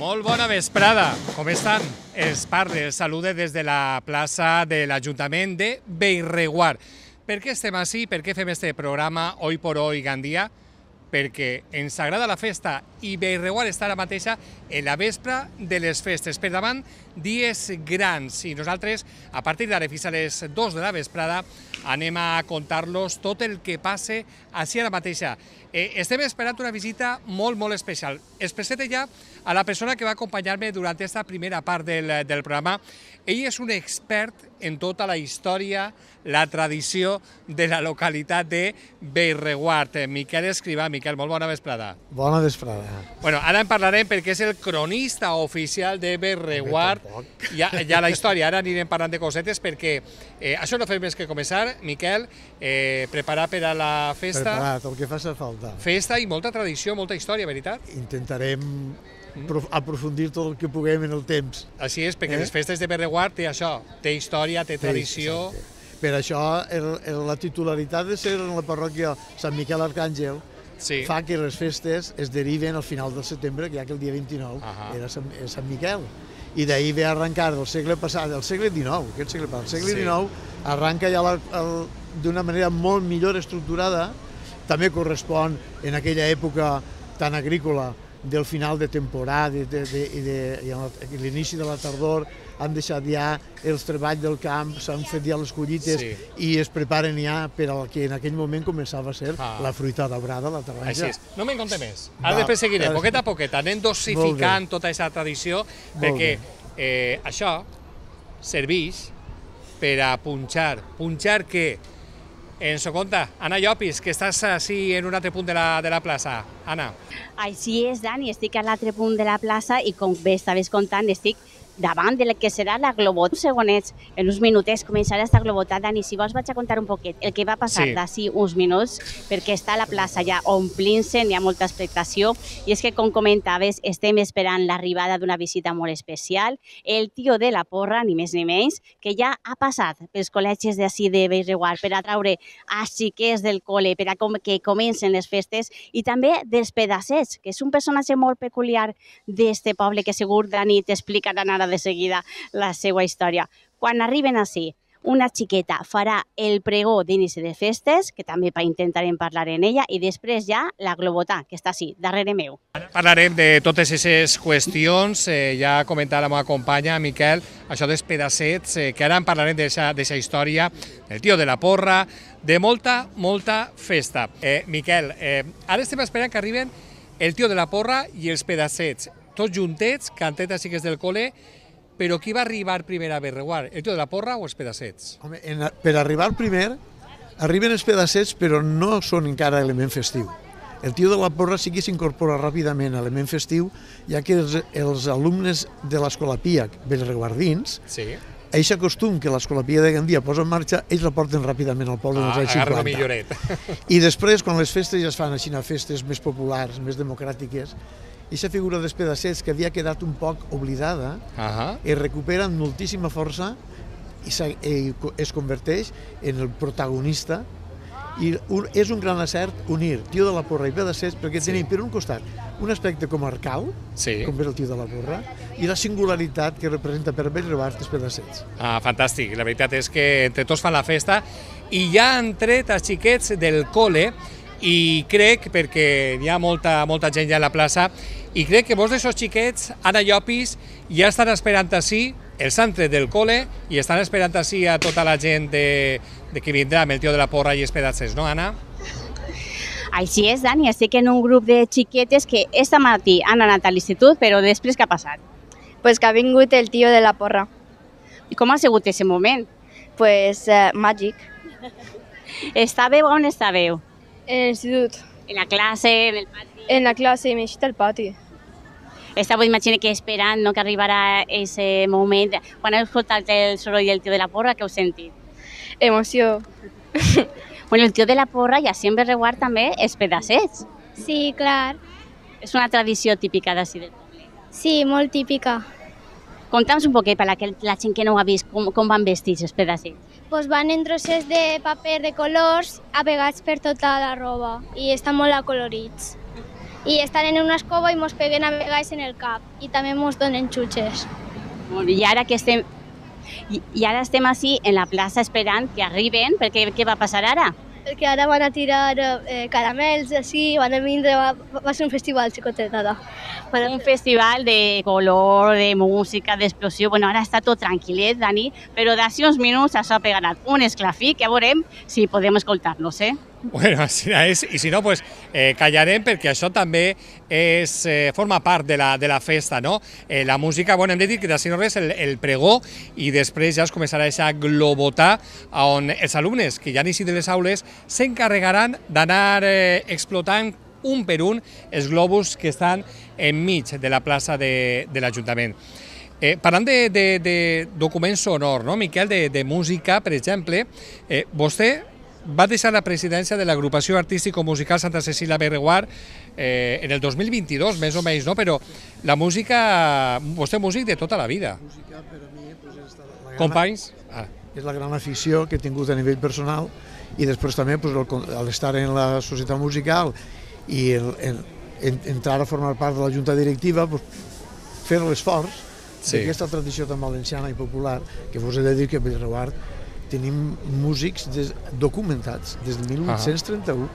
Molt bona vesprada, com estan? Els parle, els salude des de la plaça de l'Ajuntament de Bellreguard. Per què estem així? Per què fem este programa Hoy por Hoy Gandia? Perquè ens agrada la festa i Bellreguard està ara mateixa en la vespra de les festes. Per davant, dies grans, i nosaltres, a partir d'ara fins a les 2 de la vesprada, anem a contar-los tot el que passe així ara mateixa. Estem esperant una visita molt, molt especial. Es presenta ja a la persona que va acompanyar-me durant aquesta primera part del programa. Ell és un expert en tota la història, la tradició de la localitat de Bellreguard. Miquel Escrivà. Miquel, molt bona vesprada. Bona vesprada. Bueno, ara en parlarem perquè és el cronista oficial de Bellreguard. Ja la història, ara anirem parlant de cosetes perquè això no fem més que començar. Miquel, preparar per a la festa. Preparat, el que faci falta. Festa i molta tradició, molta història, veritat? Intentarem aprofundir tot el que puguem en el temps. Així és, perquè les festes de Bellreguard té això, té història, té tradició. Per això la titularitat de ser en la parròquia Sant Miquel Arcàngel fa que les festes es deriven al final del setembre, que ja que el dia 29 era Sant Miquel. I d'ahir ve arrencar del segle passat, del segle XIX, aquest segle passat. El segle XIX arranca ja d'una manera molt millor estructurada. També correspon en aquella època tan agrícola del final de temporada i l'inici de la tardor. Han deixat ja els treballs del camp, s'han fet ja les collites i es preparen ja per al que en aquell moment començava a ser la fruita daurada, la taronja. No me'n conté més. Ara després seguirem, poquet a poquet, anem dosificant tota aquesta tradició, perquè això serveix per a punxar. Punxar què? Ens ho conta Anna Llopis, que estàs així en un altre punt de la plaça. Anna. Així és, Dani, estic a l'altre punt de la plaça i com bé estaves contant, estic davant del que serà la globota. Segonets, en uns minutets començarà esta globota. Dani, si vols vaig a contar un poquet el que va passar d'ací uns minuts, perquè està la plaça ja omplint-se, hi ha molta expectació, i és que, com comentaves, estem esperant l'arribada d'una visita molt especial, el tio de la porra, ni més ni menys, que ja ha passat pels col·legis d'ací de Bellreguard per a traure a xiquets del col·le, per a que comencen les festes, i també dels pedassets, que és un personatge molt peculiar d'este poble, que segur, Dani, t'explicaran ara de seguida la seva història. Quan arriben així, una xiqueta farà el pregó d'inici de festes, que també intentarem parlar en ella, i després ja la globota, que està així, darrere meu. Parlarem de totes aquestes qüestions, ja ha comentat la meva companya, Miquel, això dels pedassets, que ara en parlarem d'aquesta història, del tio de la porra, de molta, molta festa. Miquel, ara estem esperant que arriben el tio de la porra i els pedassets, tots juntets, cantetes i xiques del col·le, però qui va arribar primer a Bellreguard, el tio de la porra o els pedassets? Home, per arribar primer, arriben els pedassets, però no són encara element festiu. El tio de la porra sí que s'incorpora ràpidament a element festiu, ja que els alumnes de l'Escola Pia bellreguardins, aquest costum que l'Escola Pia de Gandia posa en marxa, ells la porten ràpidament al poble dels anys 50. Agarra la milloret. I després, quan les festes ja es fan així, festes més populars, més democràtiques, aquesta figura dels pedassets que havia quedat un poc oblidada es recupera amb moltíssima força i es converteix en el protagonista. I és un gran acert unir tio de la porra i pedassets, perquè tenim per un costat un aspecte comarcal, com és el tio de la porra, i la singularitat que representa per Bellreguard els pedassets. Fantàstic, la veritat és que entre tots fan la festa i ja han tret els xiquets del col·le i crec, perquè hi ha molta gent ja a la plaça, i crec que molts d'aquests xiquets, Anna Llopis, ja estan esperant així, els han tret del col·le i estan esperant així a tota la gent que vindrà amb el tio de la porra i els pedassets, no, Anna? Així és, Dani, estic en un grup de xiquetes que esta matí han anat a l'institut, però després què ha passat? Pues que ha vingut el tio de la porra. I com ha sigut aquest moment? Pues màgic. Estàveu on estàveu? En l'institut. En la classe, en el pati? En la classe, m'he eixit al pati. Estàveu, imagina que esperant que arribarà aquest moment. Quan heu escoltat el soroll del tio de la porra, què heu sentit? Emoció. Bueno, el tio de la porra i així en Bellreguard també els pedassets. Sí, clar. És una tradició típica d'ací del poble. Sí, molt típica. Conta'ns un poquet per la gent que no ho ha vist, com van vestits els pedassets. Pues van en trosses de paper de colors apegats per tota la roba i estan molt acolorits. i estan en una escova i mos peguen a vegades en el cap i també mos donen xutxes. I ara estem així en la plaça esperant que arriben, perquè què va passar ara? Perquè ara van a tirar caramels, així, van a vindre, va ser un festival xicotet ara. Un festival de color, de música, d'explosió. Bueno, ara està tot tranquil·let, Dani, però d'ací uns minuts això pegarà un esclafí que veurem si podem escoltar-los, Bueno, així és, i si no, pues, callarem perquè això també forma part de la festa, no? La música, bueno, hem de dir que d'ací no res el pregó i després ja es començarà a globotar on els alumnes que ja han eixit de les aules s'encarregaran d'anar explotant un per un els globus que estan enmig de la plaça de l'Ajuntament. Parlant de documents sonors, no, Miquel, de música, per exemple, vostè va deixar la presidència de l'agrupació artístico-musical Santa Cecília Bellreguard en el 2022, més o menys, no? Però la música, vostè és músic de tota la vida. La música, per a mi, companys? És la gran afició que he tingut a nivell personal i després també al estar en la societat musical i entrar a formar part de la junta directiva, fer l'esforç d'aquesta tradició tan valenciana i popular, que vos he de dir que a Bellreguard tenim músics documentats des del 1831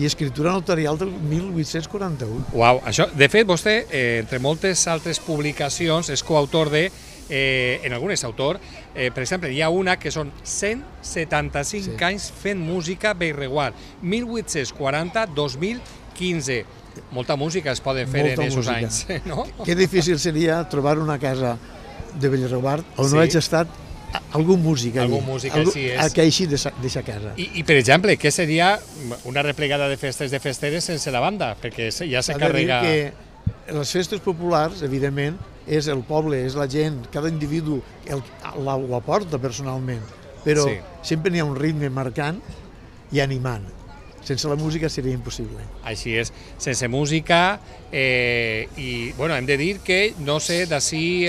i escriptura notarial del 1841. Uau, això, de fet, vostè, entre moltes altres publicacions, és coautor en algunes autor, per exemple, hi ha una que són 175 anys fent música Bellreguard, 1840-2015. Molta música es poden fer en aquests anys, no? Que difícil seria trobar una casa de Bellreguard on no hagi estat algun músic que així deixa casa. I, per exemple, què seria una replegada de festes de festeres sense la banda? Perquè ja s'encarrega... que les festes populars, evidentment, és el poble, és la gent, cada individu ho aporta personalment, però sempre n'hi ha un ritme marcant i animant. Sense la música seria impossible. Així és, sense música, i bueno, hem de dir que, no sé, d'ací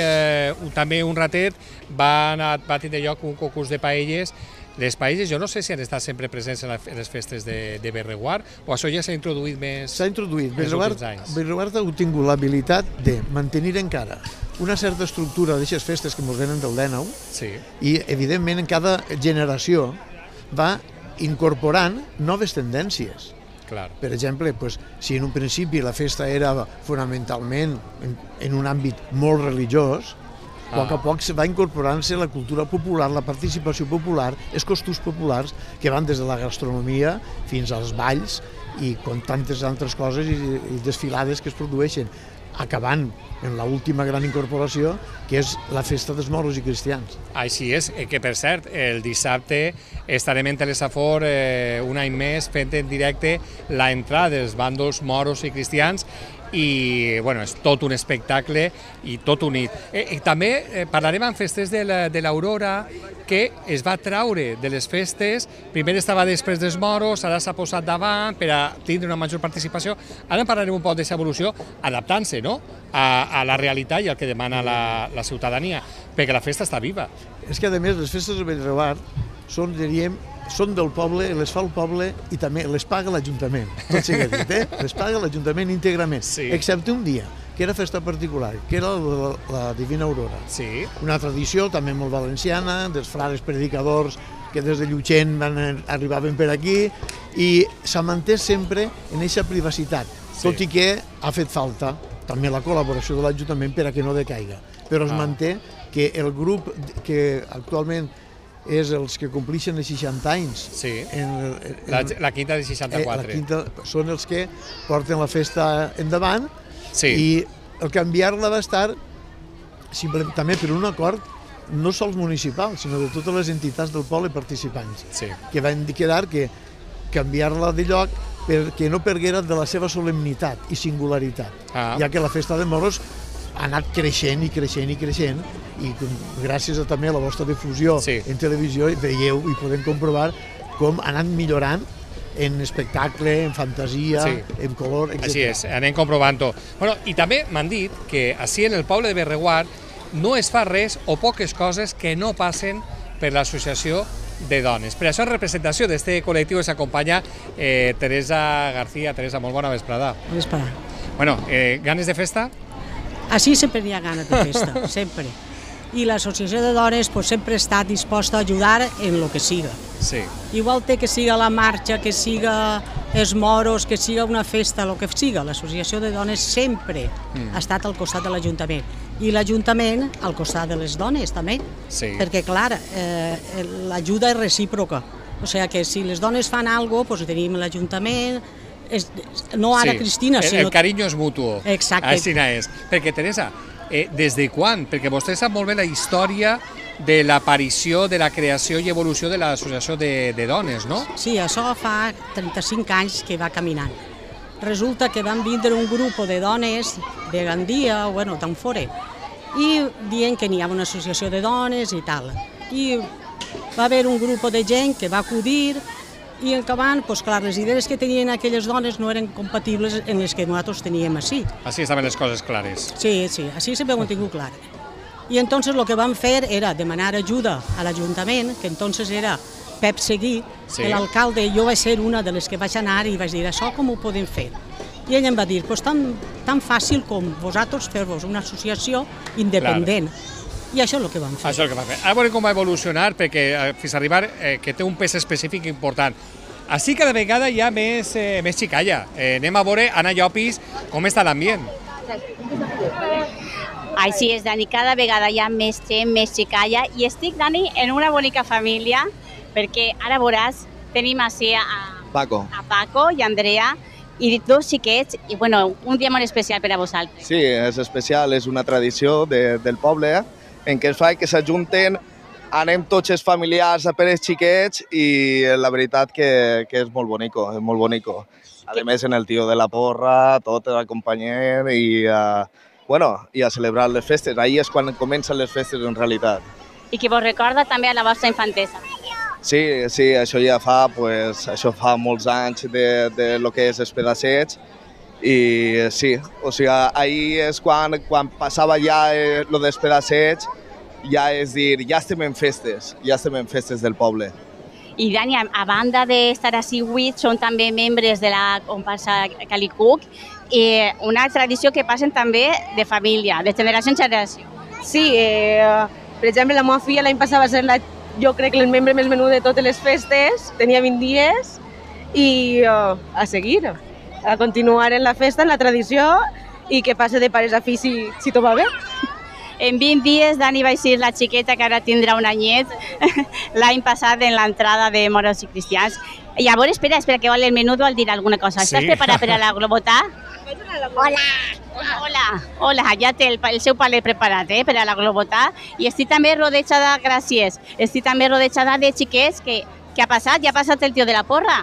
també un ratet va tindre lloc un concurs de paelles. Les paelles, jo no sé si han estat sempre presents en les festes de Bellreguard o això ja s'ha introduït més... S'ha introduït. Bellreguard ha tingut l'habilitat de mantenir encara una certa estructura d'aquestes festes que ens venen del 19 i, evidentment, en cada generació va incorporant noves tendències. Per exemple, si en un principi la festa era fonamentalment en un àmbit molt religiós, a poc va incorporant-se la cultura popular, la participació popular, els costums populars que van des de la gastronomia fins als balls i com tantes altres coses i desfilades que es produeixen, acabant en l'última gran incorporació, que és la festa dels moros i cristians. Així és, que per cert, el dissabte estarem en Telesafor un any més fent en directe l'entrada dels bàndols moros i cristians i bueno, és tot un espectacle i tot unit. També parlarem en festes de l'Aurora, que es va traure de les festes, primer estava després dels moros, ara s'ha posat davant per a tindre una major participació. Ara en parlarem un poc d'aquesta evolució, adaptant-se a la realitat i al que demana la ciutadania, perquè la festa està viva. És que, a més, les festes de Bellreguard són, diríem, són del poble, les fa el poble i també les paga l'Ajuntament. Tot sigui dit, les paga l'Ajuntament íntegrament, excepte un dia, que era festa particular, que era la Divina Aurora. Una tradició també molt valenciana, dels frares predicadors que des de Llutxent arribaven per aquí i s'ha mantès sempre en aquesta privacitat, tot i que ha fet falta també la col·laboració de l'Ajuntament per a que no decaiga. Però es manté que el grup que actualment és els que complixen els 60 anys. La quinta de 64. Són els que porten la festa endavant i el canviar-la va estar també per un acord no sols municipal, sinó de totes les entitats del poble participants, que van quedar que canviar-la de lloc perquè no perguera de la seva solemnitat i singularitat, ja que la festa de moros ha anat creixent i creixent i creixent i gràcies també a la vostra difusió en televisió veieu i podem comprovar com ha anat millorant en espectacle, en fantasia, en color, etc. Així és, anem comprovant-ho. I també m'han dit que així en el poble de Bellreguard no es fa res o poques coses que no passen per l'associació de dones. Per això en representació d'aquest col·lectiu s'acompanya Teresa García. Teresa, molt bona vesprada. Bona vesprada. Bueno, ganes de festa? Així sempre n'hi ha ganes de festa, sempre. I l'associació de dones sempre està disposta a ajudar en el que siga. Sí. Igual té que siga la marxa, que siga els moros, que siga una festa, el que siga. L'associació de dones sempre ha estat al costat de l'Ajuntament. I l'Ajuntament al costat de les dones també. Sí. Perquè, clar, l'ajuda és recíproca. O sigui que si les dones fan alguna cosa, tenim l'Ajuntament, no ara Cristina, sinó... El carinyo és mutuo. Exacte. Així és. Perquè, Teresa, des de quan? Perquè vostè sap molt bé la història de l'aparició, de la creació i evolució de l'associació de dones, no? Sí, això fa 35 anys que va caminant. Resulta que van vindre un grup de dones de Gandia, bueno, d'on fora, i dient que n'hi havia una associació de dones i tal. I va haver un grup de gent que va acudir i acabant, doncs clar, les idees que tenien aquelles dones no eren compatibles amb les que nosaltres teníem així. Així estaven les coses clares. Sí, així sempre ho hem tingut clar. I entonces el que vam fer era demanar ajuda a l'Ajuntament, que entonces era Pep Seguí, l'alcalde. Jo vaig ser una de les que vaig anar i vaig dir, això com ho podem fer? I ell em va dir, tan fàcil com vosaltres fer-vos una associació independent. I això és el que vam fer. Això és el que vam fer. Ara veurem com va evolucionar, perquè fins a arribar que té un pes específic important. Així cada vegada hi ha més xicalla. Anem a veure, Anna Llopis, com està l'ambient. Així és, Dani, cada vegada hi ha més gent, més xicalla, i estic, Dani, en una bonica família, perquè ara veuràs, tenim així a Paco i Andrea, i dos xiquets, i bueno, un dia molt especial per a vosaltres. Sí, és especial, és una tradició del poble, en què es fa que s'ajunten, anem tots els familiars a per els xiquets i la veritat que és molt bonico, és molt bonico. A més, en el tio de la porra, tot l'acompanyem i a celebrar les festes. Ahir és quan comencen les festes en realitat. I que vos recorda també a la vostra infantesa. Sí, això ja fa molts anys de lo que és els pedaçets. I sí, o sigui, ahir és quan passava ja lo dels pedacets, ja és dir, ja estem en festes del poble. I Dani, a banda d'estar així avui, són també membres de la comparsa Calicuc, i una tradició que passen també de família, de generació en generació. Sí, per exemple, la meva filla l'any passat va ser jo crec el membre més menut de totes les festes, tenia 20 dies, i a seguir, a continuar en la festa, en la tradició, i que passe de pares a fills si tot va bé. En 20 dies, Dani va ser la xiqueta que ara tindrà un anyet, l'any passat en l'entrada de moros i cristians. I llavors, espera, que vol el menut vol dir alguna cosa. Estàs preparat per a la globotà? Hola, ja té el seu palet preparat per a la globotà. I estic també rodejada, gràcies, estic també rodejada de xiquets. Què ha passat? Ja ha passat el tio de la porra?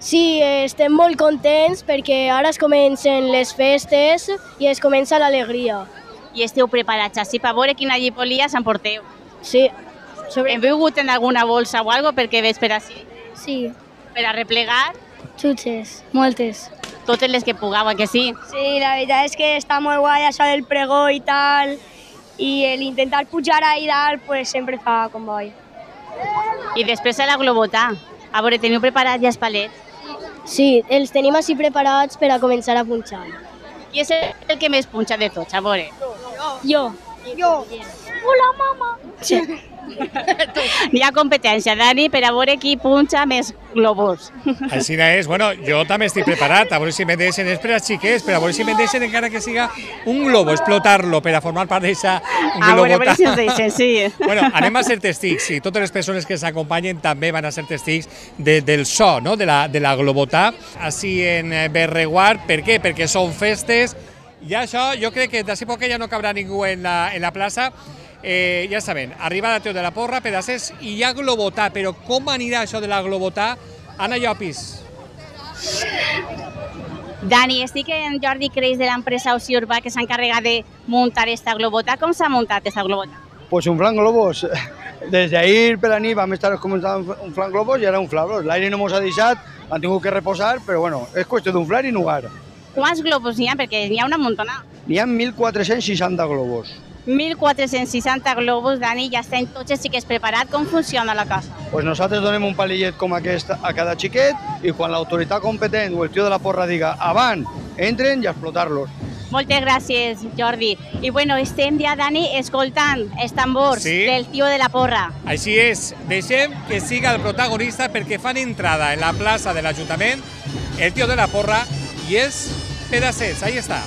Sí, estem molt contents perquè ara es comencen les festes i es comença l'alegria. I esteu preparats així per veure quina llipolia s'emporteu? Sí. Hem begut en alguna bolsa o alguna cosa perquè veig per així? Sí. Per a replegar? Xutxes, moltes. Totes les que pugueu, que sí? Sí, la veritat és que està molt guai això del pregó i tal, i l'intentar pujar ahí dalt pues, sempre fa comboi. I després a la globotà. A veure, teniu preparat ja els palets? Sí, els tenim així preparats per a començar a punxar. Qui és el que més punxa de tots? A veure. Jo. Hola, mama. Sí. Hi ha competència, Dani, per a veure qui punxa més globus. Així és. Bueno, jo també estic preparat, a veure si me'n deixen, és per als xiquets, però a veure si me'n deixen encara que siga un globo, explotar-lo per a formar part d'aquesta globotà. A veure si ens deixen, sí. Bueno, anem a ser testics, i totes les persones que s'acompanyen també van a ser testics del so, no?, de la globotà, així en Berreguard. Per què? Perquè són festes, i això jo crec que d'ací poc ja no cabrà ningú en la plaça. Ja saben, arribada Teo de la Porra, pedacers, i hi ha globotà, però com anirà això de la globotà? Anna Llopis. Dani, estic en Jordi Creix de l'empresa Oci Urbà que s'ha encarregat de muntar esta globotà. Com s'ha muntat esta globotà? Pues inflant globos. Desde ahir per la nit vam estar començant a inflar globos i ara inflar-los. L'aire no mos ha deixat, han tingut que reposar, però bueno, és qüestió d'inflar i nugar. Quants globus n'hi ha? Perquè n'hi ha una muntona. N'hi ha 1.460 globos. 1.460 globus, Dani, ja estan tots els xiquets preparats. Com funciona la cosa? Pues nosaltres donem un palillet com aquest a cada xiquet i quan l'autoritat competent o el tio de la porra diga avant, entren i a explotar-los. Moltes gràcies, Jordi. I bueno, estem ja, Dani, escoltant els tambors del Tio de la Porra. Així és, deixem que siga el protagonista perquè fan entrada en la plaça de l'Ajuntament el Tio de la Porra i és Pedassets, ahí està.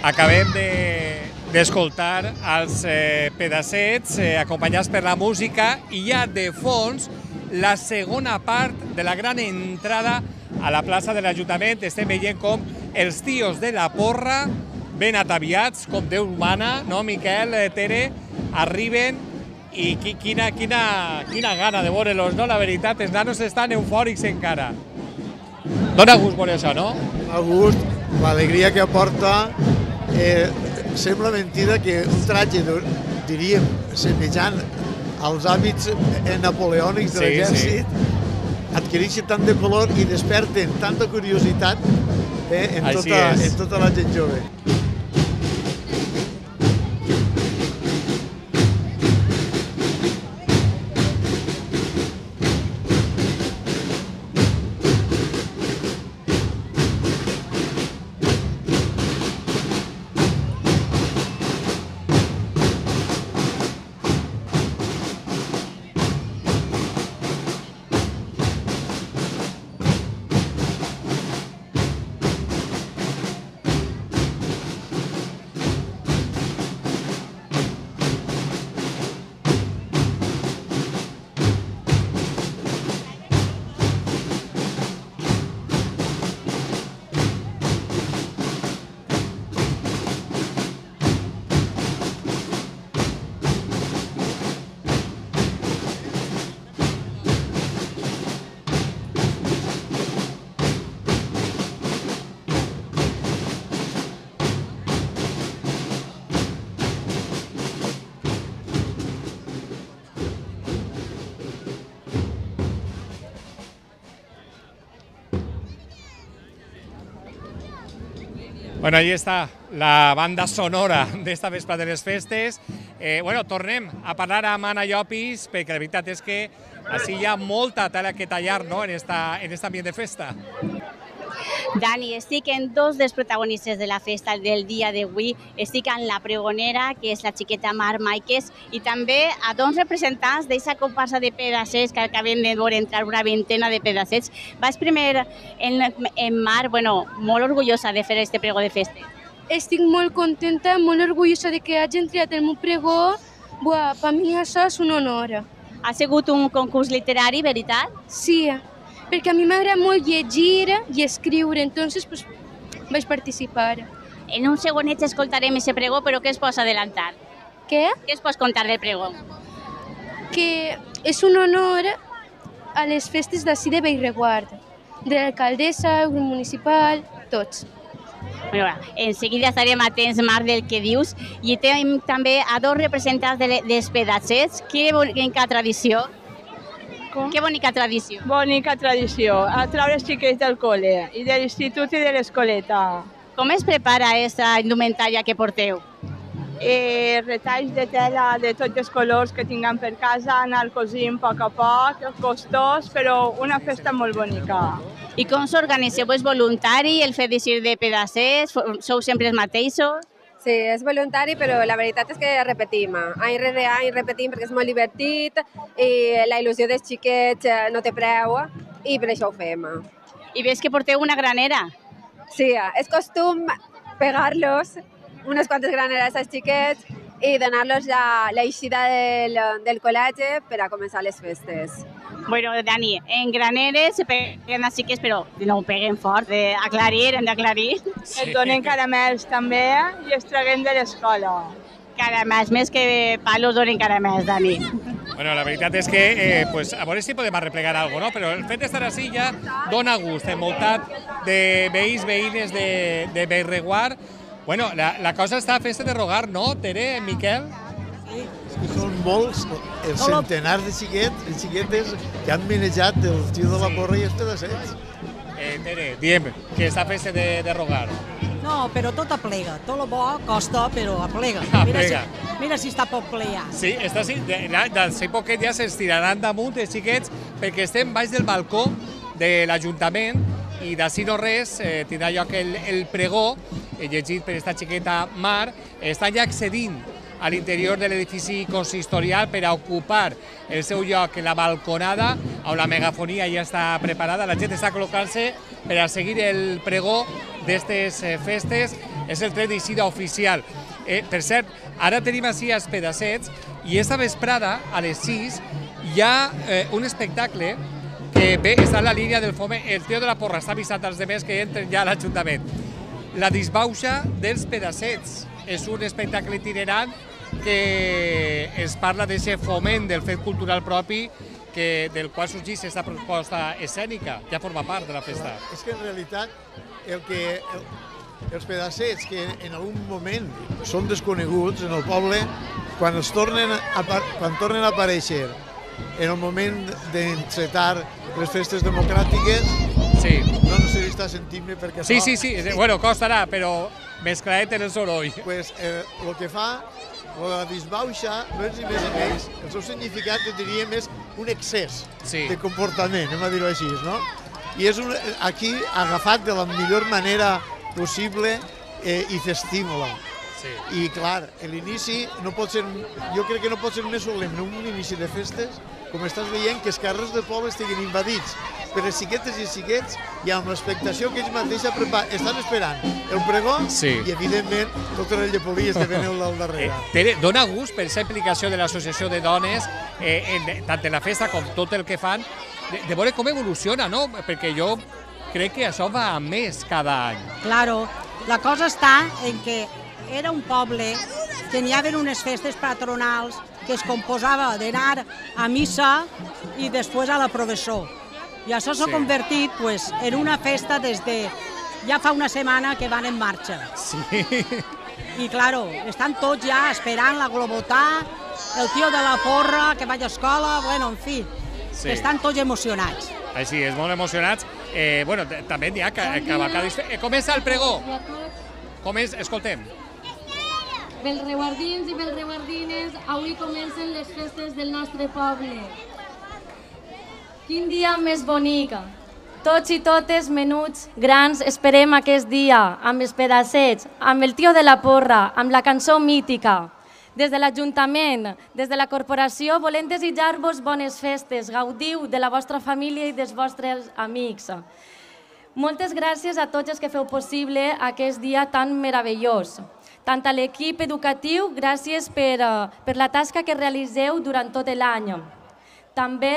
Acabem d'escoltar els Pedassets acompanyats per la música i ja de fons la segona part de la gran entrada a la plaça de l'Ajuntament. Estem veient com els tios de la porra, ben ataviats, com Déu mana, no, Miquel, Tere, arriben i quina gana de veure-los, no? La veritat, els nanos estan eufòrics encara. Dóna gust veure això, no? Dóna gust, l'alegria que aporta. Sembla mentida que un tratge, diríem, semejant als hàbits napoleònics de l'exèrcit adquireixi tant de color i desperten tanta curiositat en tota la gent jove. Bueno, ahí està la banda sonora d'esta vespa de les festes. Bueno, tornem a parlar amb Anna Llopis, perquè la veritat és que així hi ha molta tela que tallar, no?, en aquest ambient de festa. Dani, estic en dos dels protagonistes de la festa del dia d'avui. Estic amb la pregonera, que és la xiqueta Mar Maiques, i també a dos representants d'aquesta comparsa de pedassets que acabem de veure entrar una vintena de pedassets. Vas primer en Mar, bueno, molt orgullosa de fer este pregó de festa. Estic molt contenta, molt orgullosa de que hagin triat el meu pregó. Per mi això és un honor. Ha sigut un concurs literari, veritat? Sí, perquè a mi m'agrada molt llegir i escriure, entonces pues vaig participar. En un segonet escoltarem ese pregó, però què es pots adelantar? Què? Què es pots contar del pregó? Que és un honor a les festes d'ací de Bellreguard, de l'alcaldessa, el grup municipal, tots. Bueno, en seguida estarem atents, Marc, del que dius. I tenim també a dos representants dels pedassets. Que bonica tradició. Que bonica tradició. Bonica tradició. A treure els xiquets del col·le, i de l'institut i de l'escoleta. Com es prepara aquesta indumentària que porteu? Retalls de tela de tots els colors que tinguem per casa, anar cosint a poc, costós, però una festa molt bonica. I com s'organitzeu? És voluntari el fet d'eixir de pedassets? Sou sempre els mateixos? Sí, és voluntari, però la veritat és que repetim. Any rere any repetim perquè és molt divertit i la il·lusió dels xiquets no té preu i per això ho fem. I ves que porteu una granera? Sí, és costum pegar-los unes quantes graneres als xiquets i donar-los l'eixida del col·legi per a començar les festes. Bueno, Dani, en Graneres se peguen els xiquets, però no ho peguen fort, hem d'aclarir. Es donen caramels també i es treguen de l'escola. Caramels, més que palos donen caramels, Dani. Bueno, la veritat és que, a veure si podem arreplegar alguna cosa, no? Però el fet d'estar així ja dona gust, envoltat de veïns, veïnes de Bellreguard. Bueno, la cosa està a festa de rogar, no, Tere, Miquel? Sí, és que són molts, els centenars de xiquetes que han manejat el tio de la porra i els pedaçets. Tere, diem que està a festa de rogar. No, però tot aplega. Tot el bo costa, però aplega. Mira si està poc ple ja. Sí, està així. D'aquí poquet ja s'estiraran damunt els xiquets perquè estem baix del balcó de l'Ajuntament i d'ací no res tindrà lloc el pregó, llegit per esta xiqueta Mar. Estan ja accedint a l'interior de l'edifici consistorial per a ocupar el seu lloc en la balconada, on la megafonia ja està preparada. La gent està col·locant-se per a seguir el pregó d'aquestes festes. És el tret d'eixida oficial. Per cert, ara tenim així els pedaçets i esta vesprada, a les 6, hi ha un espectacle que bé, està en la línia del foment. El tio de la porra està avisant als demés que entren ja a l'Ajuntament. La disbauxa dels pedaçets és un espectacle itinerant que ens parla d'aquest foment del fet cultural propi del qual sorgeix aquesta proposta escènica, ja forma part de la festa. És que en realitat els pedaçets que en algun moment són desconeguts en el poble, quan tornen a aparèixer en el moment d'encetar les festes democràtiques, no sé si està sentint-me perquè... Sí, bueno, costarà, però mescladet en el soroll. Pues el que fa, la disbauxa, no és ni més ni menys, el seu significat diríem és un excés de comportament, anem a dir-ho així, no? I és aquí agafat de la millor manera possible i festívola. I clar, l'inici no pot ser, jo crec que no pot ser més solemne un inici de festes, com estàs veient que els carrers del poble estiguin invadits per les xiquetes i els xiquets i amb l'expectació que ells mateixos estan esperant el pregó i evidentment totes les llepolies que venen al darrere. Tere, dona gust per aquesta implicació de l'associació de dones, tant en la festa com tot el que fan, de veure com evoluciona, no? Perquè jo crec que això va a més cada any. Claro, la cosa està en que era un poble que n'hi havia unes festes patronals que es composava d'anar a missa i després a la professó. I això s'ha convertit en una festa des de ja fa una setmana que van en marxa. I, claro, estan tots ja esperant la globotà, el tio de la porra que vaig a escola, bueno, en fi, estan tots emocionats. Així, és molt emocionats. Bueno, també n'hi ha cavalcades. Comença el pregó. Escoltem. Bellreguardins i bellreguardines, avui comencen les festes del nostre poble. Quin dia més bonic! Tots i totes, menuts, grans, esperem aquest dia, amb els pedacets, amb el tio de la porra, amb la cançó mítica. Des de l'Ajuntament, des de la corporació, volem desitjar-vos bones festes, gaudiu de la vostra família i dels vostres amics. Moltes gràcies a tots els que feu possible aquest dia tan meravellós. Tant a l'equip educatiu, gràcies per la tasca que realiseu durant tot l'any. També,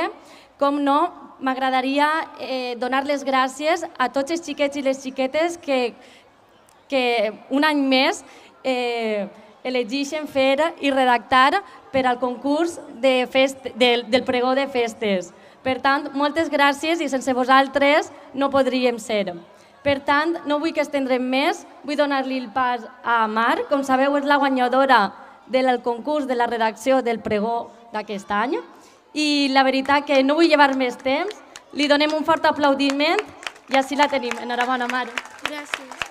com no, m'agradaria donar les gràcies a tots els xiquets i les xiquetes que un any més elegeixen fer i redactar per al concurs del pregó de festes. Per tant, moltes gràcies i sense vosaltres no podríem ser. Per tant, no vull que estendrem més, vull donar-li el pas a Mar. Com sabeu, és la guanyadora del concurs de la redacció del pregó d'aquest any. I la veritat que no vull llevar més temps, li donem un fort aplaudiment i així la tenim. Enhorabona, Mar. Gràcies.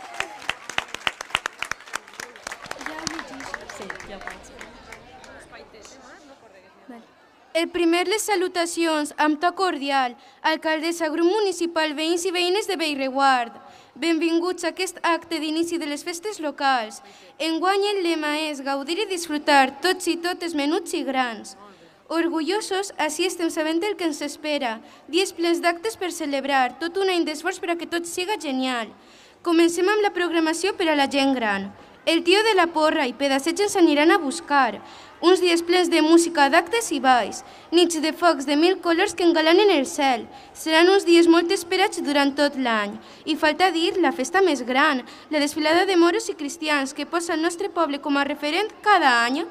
El primer, les salutacions amb to cordial, alcaldessa, grup municipal, veïns i veïnes de Bellreguard. Benvinguts a aquest acte d'inici de les festes locals. Enguany el lema és gaudir i disfrutar, tots i totes, menuts i grans. Orgullosos, així estem sabent el que ens espera. Dies plens d'actes per celebrar, tot un any d'esforç per a que tot siga genial. Comencem amb la programació per a la gent gran. El tio de la porra i pedacets ens aniran a buscar. Uns dies plens de música, d'actes i balls, nits de focs de 1000 colors que engalanen el cel. Seran uns dies molt esperats durant tot l'any. I falta dir la festa més gran, la desfilada de moros i cristians que posa el nostre poble com a referent cada any.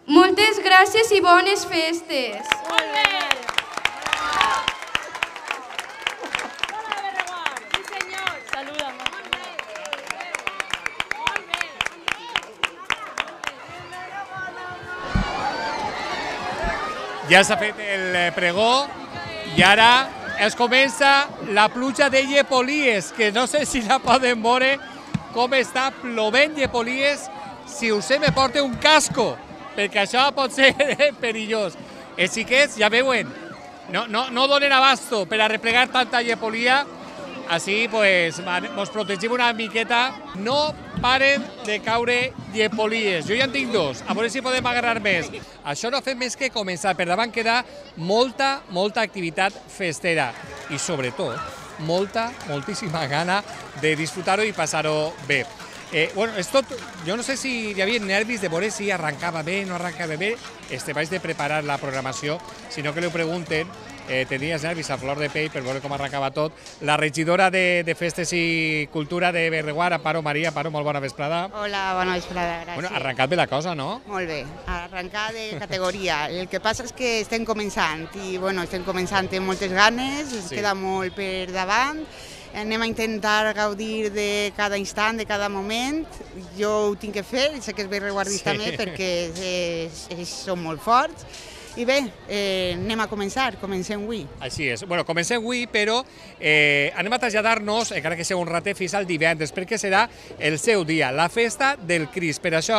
Moltes gràcies i bones festes! Molt bé! Ja s'ha fet el pregó i ara es comença la pluja de llepolies, que no sé si la poden veure com està plovent llepolies. Si us me porta un casco, perquè això pot ser perillós. Els xiquets, ja veuen, no donen abasto per a replegar tanta llepolia, així pues ens protegim una miqueta. No paren de caure llepolies. Jo ja en tinc dos, a veure si podem agarrar més. Això no ha fet més que començar. Per davant queda molta activitat festera i sobretot moltíssima gana de disfrutar-ho i passar-ho bé. Bueno, és tot, jo no sé si hi havia nervis de veure si arrencava bé, no arrencava bé. Vaig de preparar la programació, si no que li ho pregunten. Tenies nervis a flor de pell per veure com arrencava tot. La regidora de Festes i Cultura de Bellreguard, Amparo Maria. Amparo, molt bona vesprada. Hola, bona vesprada, gràcies. Bueno, arrencat bé la cosa, no? Molt bé, arrencar de categoria. El que passa és que estem començant i bueno, estem començant amb moltes ganes, ens queda molt per davant. Anem a intentar gaudir de cada instant, de cada moment. Jo ho tinc que fer, sé que és bellreguardista també perquè som molt forts. I bé, anem a començar, comencem avui. Així és. Bueno, comencem avui, però anem a traslladar-nos, encara que sigui un ratet, fins al divendres, perquè serà el seu dia, la festa del Crist. Per això,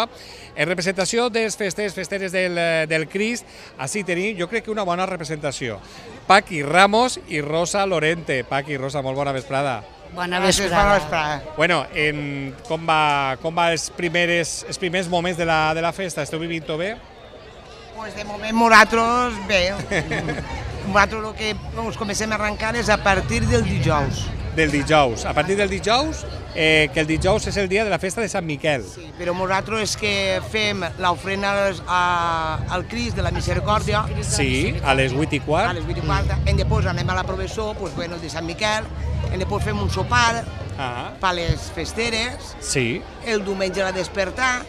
en representació dels festeres del Crist, així tenim, jo crec que una bona representació. Paqui Ramos i Rosa Lorente. Paqui, Rosa, molt bona vesprada. Bona vesprada. Bueno, com va els primers moments de la festa? Esteu vivint-ho bé? Pues de moment nosaltres bé. Nosaltres el que ens comencem a arrencar és a partir del dijous. Del dijous. A partir del dijous, que el dijous és el dia de la festa de Sant Miquel. Sí, però nosaltres és que fem l'ofrena al Crist de la Misericòrdia. Sí, a les 8:15. A les 8:15. I després anem a la processó, el de Sant Miquel, i després fem un sopar per les festeres. Sí. El diumenge a despertar.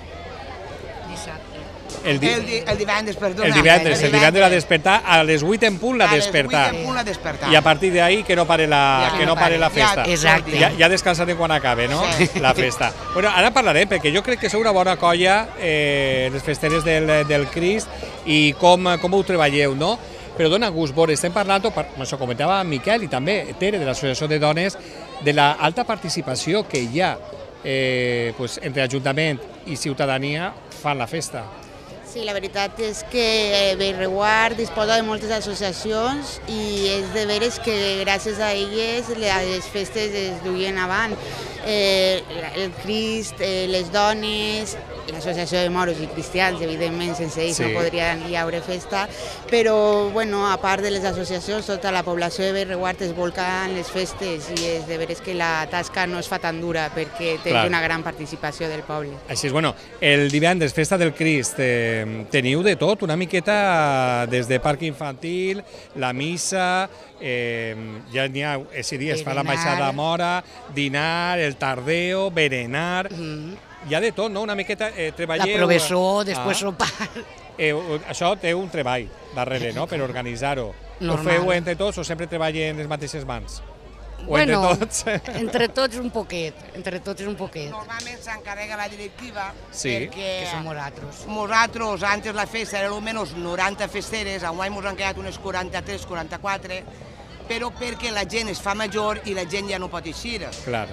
El divendres, perdona. El divendres a despertar, a les 8 en punt la despertar. I a partir d'ahí que no pare la festa. Exacte. Ja descansarem quan acabe, no? La festa. Bueno, ara parlarem, perquè jo crec que sou una bona colla, les festeres del Crist, i com ho treballeu, no? Però dona gust veure, estem parlant, això comentava Miquel i també Tere, de l'Associació de Dones, de l'alta participació que hi ha entre Ajuntament i ciutadania fan la festa. Sí, la veritat és que Bellreguard disposa de moltes associacions i és de veres que gràcies a elles les festes es duien avant. El Crist, les dones, l'associació de moros i cristians, evidentment, sense ells no podrien hi haure festa, però a part de les associacions, tota la població de Bellreguard es volca en les festes i és de veres que la tasca no es fa tan dura perquè tens una gran participació del poble. Així és, el divendres, festa del Crist, teniu de tot, una miqueta des de parc infantil, la missa, ja n'hi ha, aquest dia es fa la baixada mora, dinar, el tardeo, berenar, hi ha de tot, no? Una miqueta treballeu... La professó, després sopar... Això té un treball darrere, no?, per organitzar-ho. Ho feu entre tots o sempre treballen les mateixes mans? Bueno, entre tots un poquet, Normalment s'encarrega la directiva perquè som nosaltres. Nosaltres, antes la festa era almenys 90 festeres, enguany ens han quedat unes 43, 44, però perquè la gent es fa major i la gent ja no pot eixir. Clar.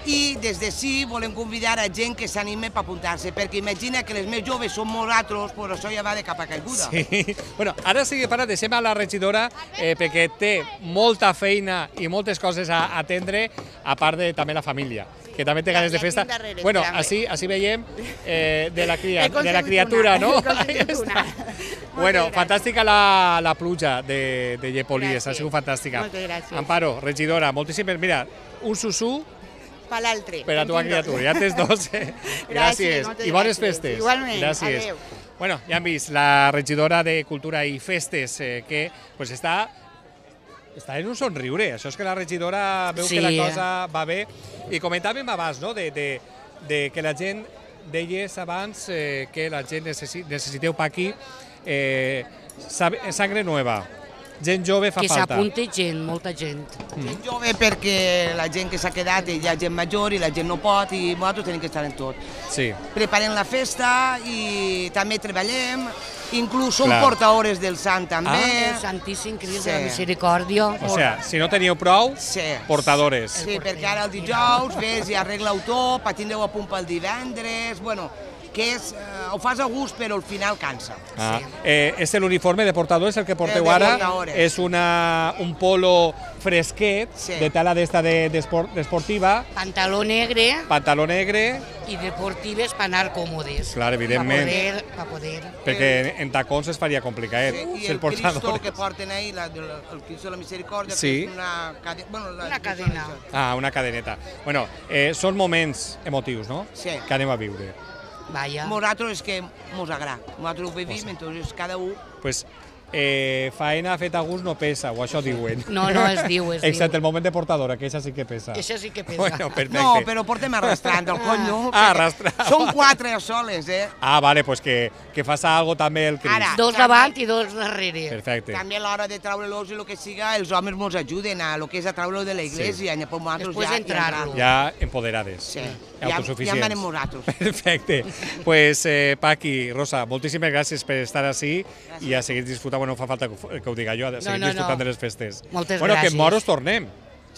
I des d'ací volem convidar a gent que s'anime per apuntar-se, perquè imagina que les més joves som nosaltres, però això ja va de capa caiguda. Sí. Bueno, ara sí que deixem a la regidora perquè té molta feina i moltes coses a atendre, a part de també la família, que també té ganes de festa. Bueno, així veiem de la criatura, no? Bueno, fantàstica la pluja de llepolies, ha sigut fantàstica. Moltes gràcies. Amparo, regidora, moltíssimes... Mira, un susú per l'altre. Per a tu criatura, ja tens dos. Gràcies. I bones festes. Igualment. Gràcies. Bueno, ja han vist la regidora de Cultura i Festes que pues està en un somriure. Això és que la regidora veu que la cosa va bé. I comentàvem abans, no?, de que la gent, deies abans que la gent necessiteu per aquí sangre nova. Gent jove fa falta. Que s'apunti gent, molta gent. Gent jove perquè la gent que s'ha quedat, hi ha gent major i la gent no pot i nosaltres tenim que estar en tot. Sí. Preparem la festa i també treballem, inclús som portadores del Sant també. El Santíssim Crist de la Misericòrdia. O sigui, si no teníeu prou, portadores. Sí, perquè ara el dijous ves i arregla-ho tot, tindreu a punt pel divendres, bueno, que ho fas a gust però al final cansa. És l'uniforme de portadores el que porteu ara, és un polo fresquet de tela d'esta d'esportiva. Pantaló negre. Pantaló negre. I deportives per anar còmodes. Clar, evidentment. Per poder. Perquè en tacons es faria complicat. I el Cristo que porten ahí, el Cristo de la Misericòrdia, que és una cadena. Una cadeneta. Bueno, són moments emotius, no?, que anem a viure. Nosaltres és que mos agrada, nosaltres ho vivim, entonces cada un... Pues faena feta a gust no pesa, o això diuen. No, es diu. Excepte el moment de portadora, que això sí que pesa. Això sí que pesa. Bueno, perfecte. No, però portem arrastrant el conyo. Arrastrant. Són 4 soles, vale, pues que faça algo també el Crist. 2 davant i 2 darrere. Perfecte. També a l'hora de treure-los i el que siga, els homes ens ajuden a lo que és a treure-lo de la iglesia. Després entrar-lo. Ja empoderades. Sí. Autosuficients. Ja manem nosaltres. Perfecte. Pues, Paqui, Rosa, moltíssimes gràcies per estar així i a seguir disfrutant. Bueno, no fa falta que ho diga jo, a seguir disfrutant de les festes. Moltes gràcies. Bueno, que en Moros tornem.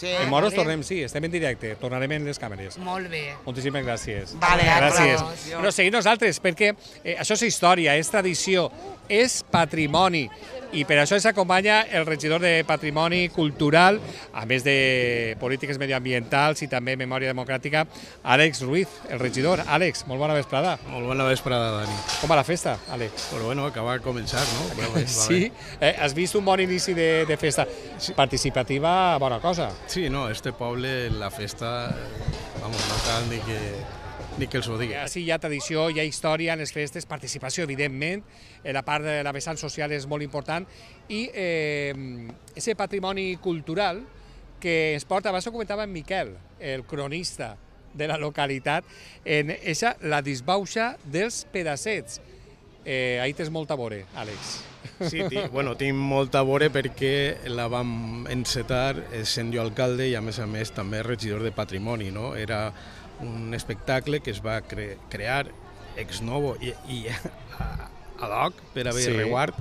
En Moros tornem, sí, estem en directe, tornarem en les càmeres. Molt bé. Moltíssimes gràcies. Vale, gràcies. Però seguim nosaltres, perquè això és història, és tradició, és patrimoni. I per això ens acompanya el regidor de Patrimoni Cultural, a més de polítiques medioambientals i també memòria democràtica, Àlex Ruiz, el regidor. Àlex, molt bona vesprada. Molt bona vesprada, Dani. Com va la festa, Àlex? Però bueno, acaba de començar, no? Sí? Has vist un bon inici de festa. Participativa, bona cosa. Sí, no, este poble, la festa, vamos, no cal ni que els ho digui. Sí, hi ha tradició, hi ha història en les festes, participació, evidentment, la part de la vessant social és molt important, i aquest patrimoni cultural que ens porta, abans ho comentava en Miquel, el cronista de la localitat, en la disbauxa dels pedassets. Ahí tens molta a veure, Àlex. Sí, bueno, tinc molta a veure perquè la vam encetar sent jo alcalde i a més també regidor de patrimoni, no? Era un espectacle que es va crear ex novo i ad hoc per a Bellreguard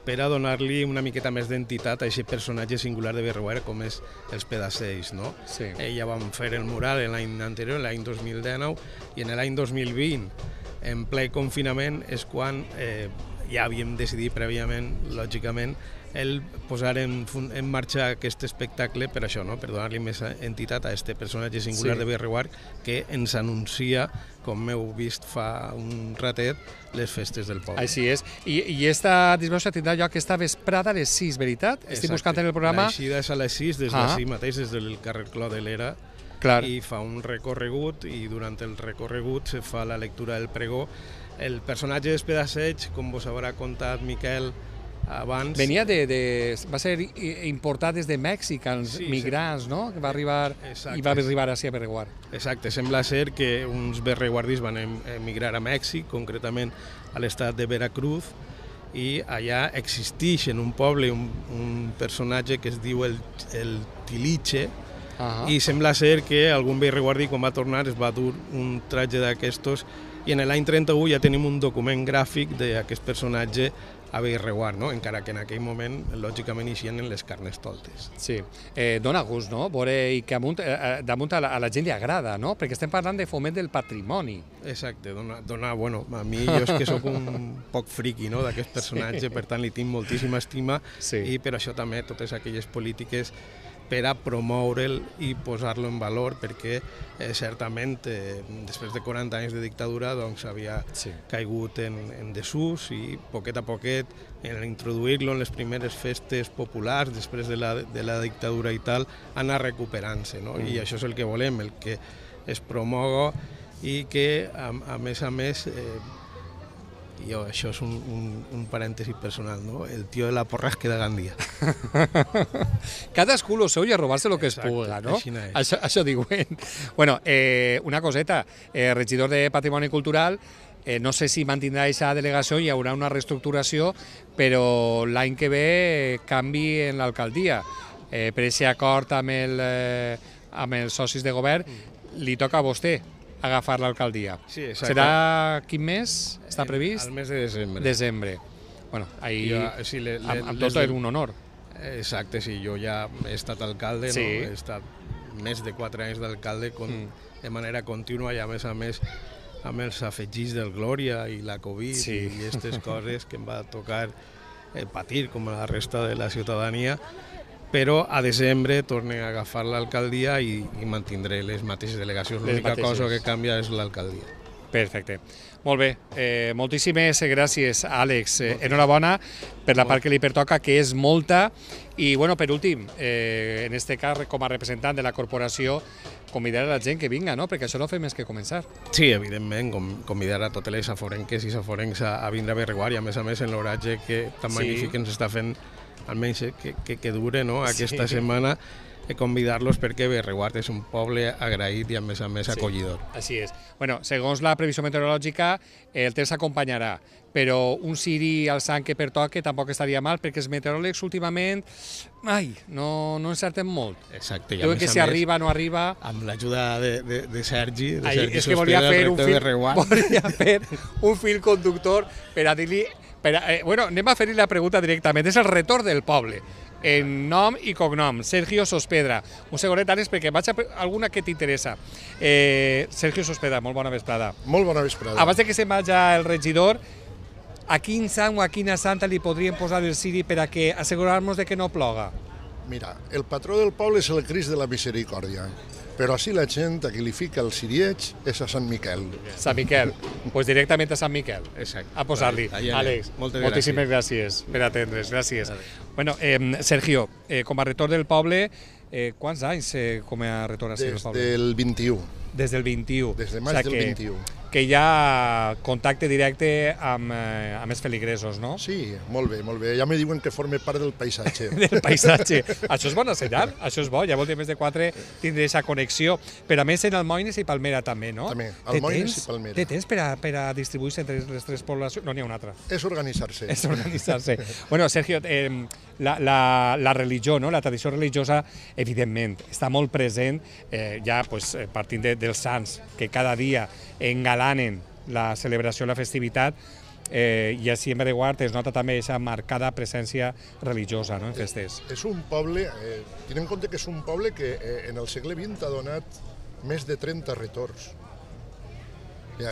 per a donar-li una miqueta més d'entitat a aquest personatge singular de Bellreguard com és els pedassells, no? Ja vam fer el mural l'any anterior, l'any 2019, i en l'any 2020, en ple confinament, és quan ja havíem decidit prèviament, lògicament, el posar en marxa aquest espectacle per això, no? Per donar-li més entitat a aquest personatge singular de Bellreguard que ens anuncia, com heu vist fa un ratet, les festes del poble. Així és. I aquesta disbauxa tindrà lloc aquesta vesprada a les 6, veritat? Estic buscant en el programa. L'eixida és a les 6, des d'ací mateix, des del carrer Clos de l'Era, i fa un recorregut, i durant el recorregut se fa la lectura del pregó. El personatge dels pedassells, com vos haurà contat Miquel abans... va ser importat des de Mèxic, els migrants, no? Que va arribar i va arribar a Bellreguard. Exacte, sembla ser que uns bellreguardis van emigrar a Mèxic, concretament a l'estat de Veracruz, i allà existeix en un poble un personatge que es diu el Tiliche, i sembla ser que algun bellreguardí quan va tornar es va dur un tratge d'aquestos, i en l'any 31 ja tenim un document gràfic d'aquest personatge a Bellreguard, no? Encara que en aquell moment, lògicament, eixien en les carnestoltes. Sí, dona gust, no? Veure que damunt a la gent li agrada, no? Perquè estem parlant de foment del patrimoni. Exacte, bueno, a mi jo és que sóc un poc friqui, no?, d'aquest personatge, per tant li tinc moltíssima estima, i per això també totes aquelles polítiques per a promoure'l i posar-lo en valor, perquè certament després de 40 anys de dictadura havia caigut en desús, i poquet a poquet, en introduir-lo en les primeres festes populars després de la dictadura i tal, anar recuperant-se, i això és el que volem, el que es promoga i que a més Jo, això és un parèntesi personal, no? El tio de la porra es queda a Gandia. Cadascú lo seu i a robar-se lo que es puga, no? Això diuen. Bueno, una coseta, regidor de Patrimoni Cultural, no sé si mantindrà aquesta delegació, hi haurà una reestructuració, però l'any que ve canvi en l'alcaldia. Per aquest acord amb els socis de govern, li toca a vostè agafar l'alcaldia. Sí, exacte. Serà quin mes està previst? El mes de desembre. Desembre. Bueno, ahir amb tot era un honor. Exacte, sí, jo ja he estat alcalde, no? He estat més de 4 anys d'alcalde de manera contínua i a més amb els afegits del Glòria i la Covid i aquestes coses que em va tocar patir com a la resta de la ciutadania, però a desembre tornen a agafar l'alcaldia i mantindré les mateixes delegacions. L'única cosa que canvia és l'alcaldia. Perfecte. Molt bé. Moltíssimes gràcies, Àlex. Enhorabona per la part que li pertoca, que és molta. I, bueno, per últim, en aquest cas, com a representant de la corporació, convidar a la gent que vinga, no? Perquè això no fa més que començar. Sí, evidentment, convidar a totes les aforenques i saforencs a vindre a Bellreguard i, a més, en l'oratge que tan magnífic ens està fent, almenys que dure aquesta setmana, convidar-los perquè Bellreguard és un poble agraït i a més acollidor. Així és. Bueno, segons la previsió meteorològica, el temps s'acompanyarà, però un ciri al sant que pertoque tampoc estaria mal, perquè els meteoròlegs últimament no encerten molt. Exacte. Diuen que si arriba o no arriba... Amb l'ajuda de Sergi és que volia fer un fil conductor per a dir-li... Bueno, anem a fer-li la pregunta directament. És el retorn del poble. En nom i cognom, Sergio Sospedra. Un segonet, Àlex, perquè vaig a alguna que t'interessa. Sergio Sospedra, molt bona vesprada. Molt bona vesprada. Abans que se'n vagi el regidor, a quin sant o a quina santa li podríem posar el ciri per a que assegurar-nos de que no ploga? Mira, el patró del poble és el Crist de la Misericòrdia, però així la gent a qui li fica el cirieig és a Sant Miquel. Sant Miquel, doncs directament a Sant Miquel. Exacte. A posar-li. Àlex, moltíssimes gràcies per atendre's, gràcies. Bueno, Sergio, com a rector del poble, quants anys com a rector del poble? Des del 21. Des del 21. Des de maig del 21. Que hi ha contacte directe amb els feligresos, no? Sí, molt bé, molt bé. Ja me diuen que forme part del paisatge. Del paisatge. Això és bona senyal, això és bo. Ja vol dir més de 4 tindre aquesta connexió. Però a més en Almoines i Palmera també, no? També, Almoines i Palmera. Té temps per a distribuir-se entre les 3 poblacions? No n'hi ha una altra. És organitzar-se. És organitzar-se. Bueno, Sergio, la religió, no? La tradició religiosa, evidentment, està molt present, ja partint dels sants, que cada dia engalanen la celebració, la festivitat, i així en Bellreguard es nota també aquesta marcada presència religiosa, no?, en festes. És un poble, tenint en compte que és un poble que en el segle XX ha donat més de 30 retorns.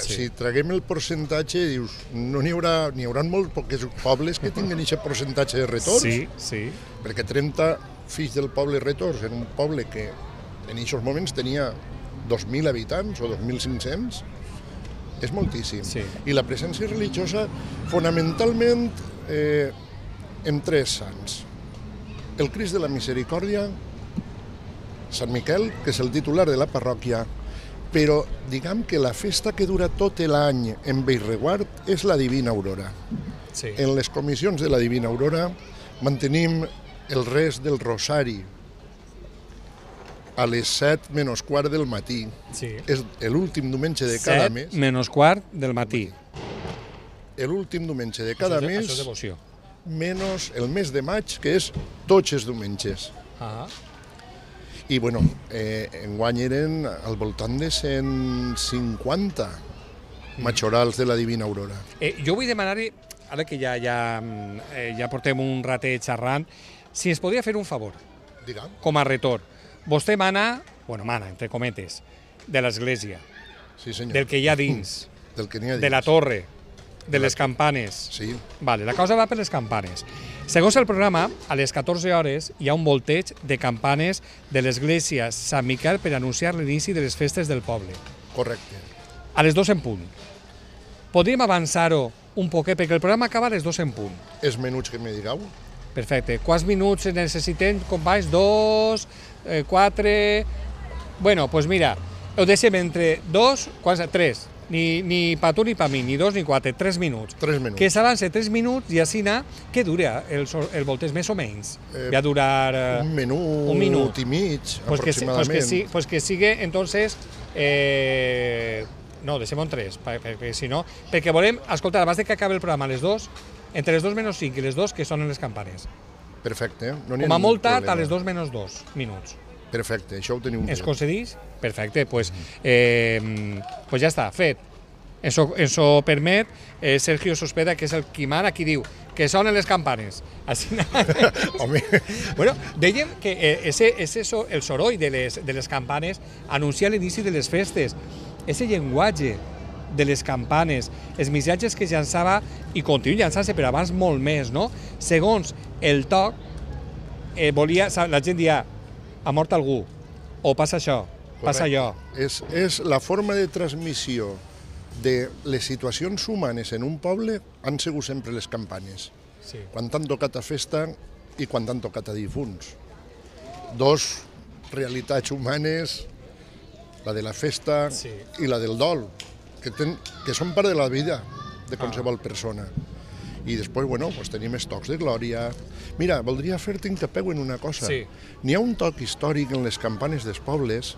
Si traguem el percentatge, dius, n'hi haurà molt pocs pobles que tinguin aquest percentatge de retorns. Sí. Perquè 30 fills del poble retorns en un poble que en aquests moments tenia 2.000 habitants o 2.500, és moltíssim. I la presència religiosa, fonamentalment, en 3 sants. El Crist de la Misericòrdia, Sant Miquel, que és el titular de la parròquia, però diguem que la festa que dura tot l'any en Bellreguard és la Divina Aurora. En les comissions de la Divina Aurora mantenim el rest del Rosari a les 7 menys quart del matí. És l'últim diumenge de cada mes. 7 menys quart del matí. L'últim diumenge de cada mes. Això és devoció. Menys el mes de maig, que és tots els diumenges. I, bueno, enguany eren al voltant de 150 majorals de la Divina Aurora. Jo vull demanar-li, ara que ja portem un ratet xerrant, si ens podria fer un favor, com a retor. Vostè mana, entre cometes, de l'església, del que hi ha dins, de la torre, de les campanes. Vale, la cosa va per les campanes. Segons el programa, a les 14 hores hi ha un volteig de campanes de l'església Sant Miquel per anunciar l'inici de les festes del poble. Correcte. A les 2 en punt. Podríem avançar-ho un poquet, perquè el programa acaba a les 2 en punt. Els menuts que me digueu? Perfecte. Quants minuts necessitem, companys? 2, 4... Bueno, doncs mira, ho deixem entre 2, 3. ni pa tu ni pa mi, ni 2 ni 4, 3 minuts. 3 minuts. Que s'avance 3 minuts i així què dura el volteig, més o menys? Va durar... Un minut i mig, aproximadament. Pues que sigue, entonces... No, deixem-ho en 3, perquè si no... Perquè volem, escolta, abans que acabi el programa a les 2, entre les 2 menys 5 i les 2, que sonen les campanes. Perfecte. Com a molt tard, a les 2 menys 2 minuts. Perfecte, això ho teniu bé. Es concedís? Perfecte, pues ja està, fet. Eso permet Sergio Sospeda, que és el qui mana, qui diu que sonen les campanes. Home. Bueno, dèiem que el soroll de les campanes anuncia l'inici de les festes. Ese llenguatge de les campanes, els missatges que llançava i continua llançant-se, però abans molt més, no? Segons el toc, la gent dia ha mort algú, o passa això, passa allò. És la forma de transmissió de les situacions humanes en un poble han sigut sempre les campanes. Quan t'han tocat a festa i quan t'han tocat a difunts. Dos realitats humanes, la de la festa i la del dol, que són part de la vida de qualsevol persona. I després, bueno, tenim els tocs de glòria. Mira, voldria fer-te incapeu en una cosa. N'hi ha un toc històric en les campanes dels pobles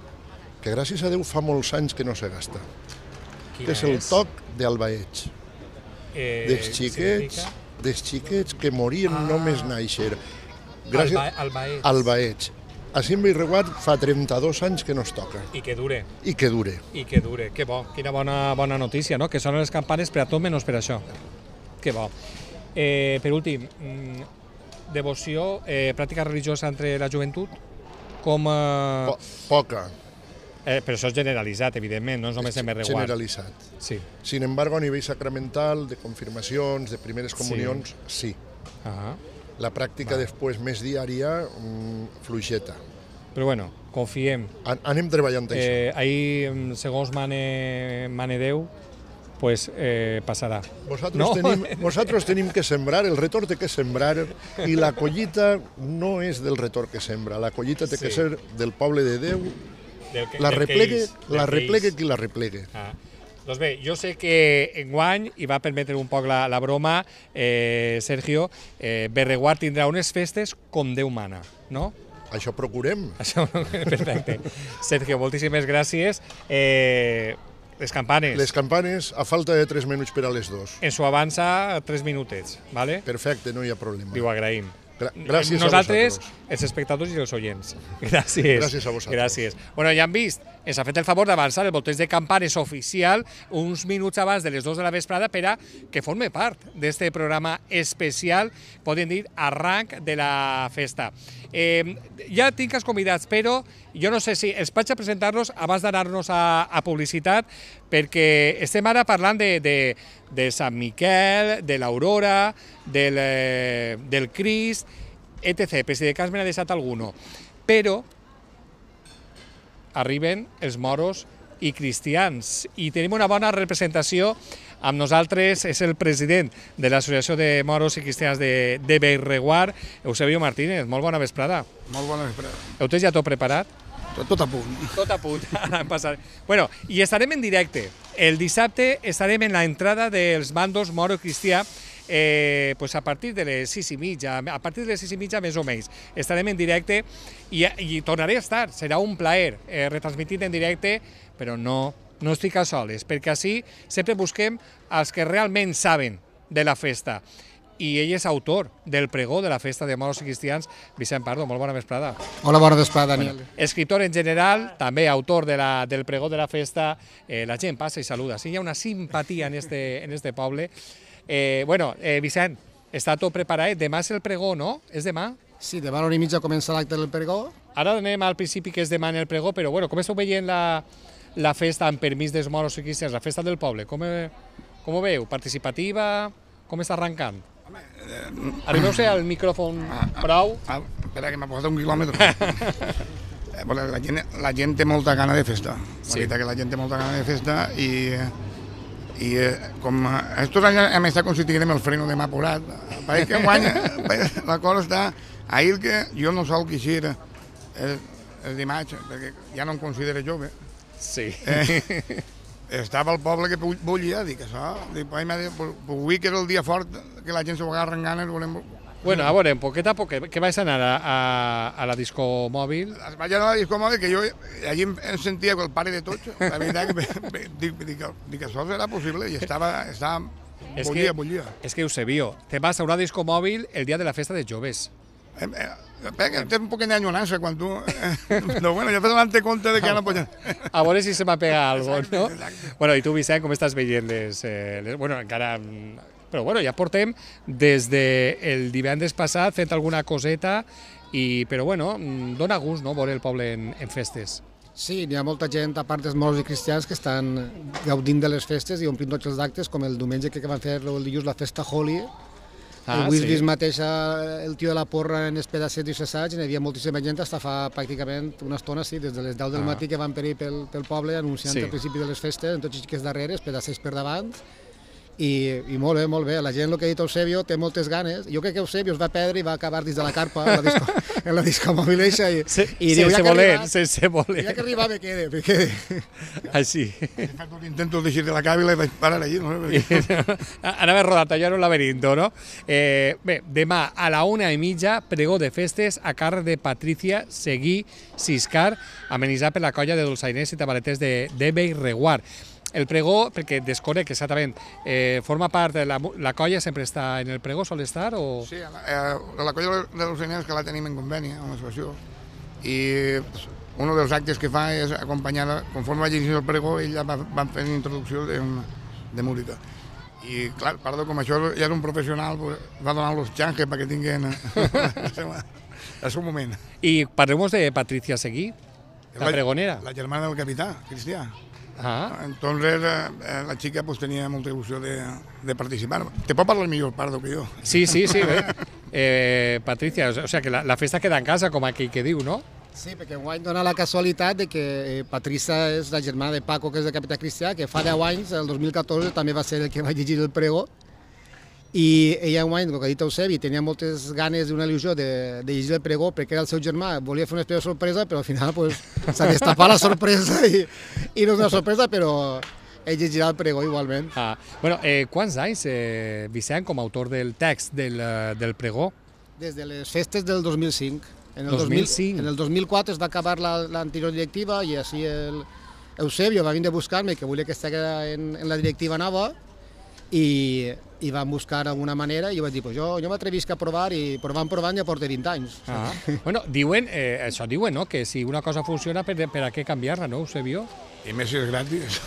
que gràcies a Déu fa molts anys que no se gasta. Que és el toc d'Albaets. Dels xiquets que morien només nàixer. Albaets. Així en Bellreguard fa 32 anys que no es toca. I que dure. I que dure. I que dure. Que bo, quina bona notícia, no? Que sonen les campanes per a tot menys per això. Que bo. Per últim, devoció, pràctica religiosa entre la joventut? Com... Poca. Però això és generalitzat, evidentment, no és només en Bellreguard. Generalitzat. Sí. Sin embargo, a nivell sacramental, de confirmacions, de primeres comunions, sí. La pràctica després més diària, fluixeta. Però bueno, confiem. Anem treballant això. Ahir, segons mane Déu, pues passarà. Vosaltres tenim que sembrar, el retor té que sembrar, i la collita no és del retor que sembra, la collita té que ser del poble de Déu, la replegue qui la replegue. Doncs bé, jo sé que enguany, i va permetre un poc la broma, Sergio, Bellreguard tindrà unes festes com Déu mana, no? Això procurem. Perfecte. Sergio, moltíssimes gràcies. Les campanes. Les campanes, a falta de 3 minuts per a les 2. Ens ho avança 3 minutets, ¿vale? Perfecte, no hi ha problema. Ho agraïm. Gràcies nosaltres, a vosaltres. els espectadors i els oients. Gràcies. Gràcies a vosaltres. Gràcies. Bueno, ja han vist, ens ha fet el favor d'avançar el volteig de campanes oficial uns minuts abans de les 2 de la vesprada per a que forme part d'aquest programa especial, podem dir, arranc de la festa. Ja tinc els convidats, però jo no sé si els vaig a presentar-los abans d'anar-nos a publicitat, perquè estem ara parlant de Sant Miquel, de l'Aurora, del Crist, etc., per si de cas me n'ha deixat alguno. Però arriben els moros i cristians i tenim una bona representació. Amb nosaltres és el president de l'Associació de Moros i Cristians de Bellreguard, Eusebio Martínez. Molt bona vesprada. Molt bona vesprada. Heu tens ja tot preparat? Tot a punt. Tot a punt. Bueno, i estarem en directe. El dissabte estarem en l'entrada dels bandos moro i cristià, pues a partir de les 6:30, a partir de les 6:30 més o menys. Estarem en directe i tornaré a estar. Serà un plaer retransmitir en directe, però no estic a soles, perquè així sempre busquem els que realment saben de la festa. I ell és autor del pregó de la festa de moros i cristians. Vicent Pardo, molt bona vesprada. Hola, bona vesprada, Daniel. Escritor en general, també autor del pregó de la festa. La gent passa i saluda. Sí, hi ha una simpatia en este poble. Bueno, Vicent, està tot preparat. Demà és el pregó, no? És demà? Sí, demà a l'1:30 comença l'acte del pregó. Ara anem al principi que és demà en el pregó, però bueno, com esteu veient la festa amb permís dels moros i cristians, la festa del poble? Com ho veu? Participativa? Com està arrencant? Arribeu-se al micròfon prou. Espera, que m'ha posat un quilòmetre. La gent té molta gana de festa. La veritat que la gent té molta gana de festa i com estos anys hem estat constituint amb el freno de mà porat, pareix que enguany la cosa està... Ahir que jo no sol queixir el dimarts, perquè ja no em considero jove. Sí. estava el poble que bullia, dic això, avui que era el dia fort, que la gent s'ho agarra en ganes, volem... Bueno, a veure, poquet a poquet, que vais anar a la disco mòbil? Vaig anar a la disco mòbil, que jo allí em sentia el pare de tots, la veritat que dic això serà possible, i estava bullia. És que Eusebio, te vas a una disco mòbil el dia de la festa de joves. Té un poquet d'anyonança quan tu... No, bueno, jo he donant-te compte de que no pots... A veure si se m'ha pegat alguna cosa, no? Bueno, i tu, Vicent, com estàs veient les... Bueno, encara... Però bueno, ja portem des del divendres passat fent alguna coseta, però bueno, dona gust, no?, veure el poble en festes. Sí, hi ha molta gent, a part dels morts i cristians, que estan gaudint de les festes i omplint tots els actes, com el diumenge que van fer el dilluns la festa Holy. Avui vist mateix el tio de la porra en els pedacets i cessats, hi havia moltíssima gent, fins fa pràcticament una estona, sí, des de les 10 del matí que van per poble anunciant el principi de les festes, en tots els xiquets darrere, pedacets per davant. I molt bé, la gent, el que ha dit Eusebio, té moltes ganes. Jo crec que Eusebio es va perdre i va acabar dins de la carpa en la disco mòbil eixa i sense voler. Ja que arribar me quede. Així. He fet un intent d'eixir de la càbila i vaig parar allí. Anava rodant allà en un laberinto, no? Bé, demà a la 1:30, pregó de festes a càrrec de Patricia Seguí Siscar, amenitzat per la colla de dolçainers i tabaleters de Bellreguard. El pregó, perquè desconec exactament, forma part de la colla, sempre està en el pregó, sol estar? Sí, la colla de dolçainers que la tenim en conveni amb l'associació, i un dels actes que fa és acompanyar, conforme va llegir el pregó, ella va fer una introducció de música. I clar, perdó, com això ja era un professional, va donar los changes perquè tinguin el seu moment. I parlem de Patricia Seguí, la pregonera. La germana del capità, Cristià. Entonces la chica pues tenía molta il·lusió de participar. Te pot parlar millor, Pardo, que jo. Sí, Patricia, o sea que la festa queda en casa, com aquell que diu, no? Sí, perquè enguany dona la casualitat de que Patricia és la germana de Paco, que és de capità Cristià, que fa 10 anys, el 2014, també va ser el que va llegir el pregó. I ella enguany, el que ha dit Eusebi, tenia moltes ganes d'una il·lusió de llegir el pregó perquè era el seu germà, volia fer una espècie de sorpresa, però al final s'ha destapat la sorpresa i no és una sorpresa, però ell llegirà el pregó igualment. Bueno, quants anys, Vicent, com a autor del text del pregó? Des de les festes del 2005. En el 2004 es va acabar l'anterior directiva i així Eusebio va vindre a buscar-me, que volia que estigués en la directiva nova, i van buscar alguna manera i jo vaig dir, jo m'atrevisc a provar i provant ja porta 20 anys. Bueno, això diuen, no?, que si una cosa funciona, per a què canviar-la, no, Eusebio? I més si és gratis.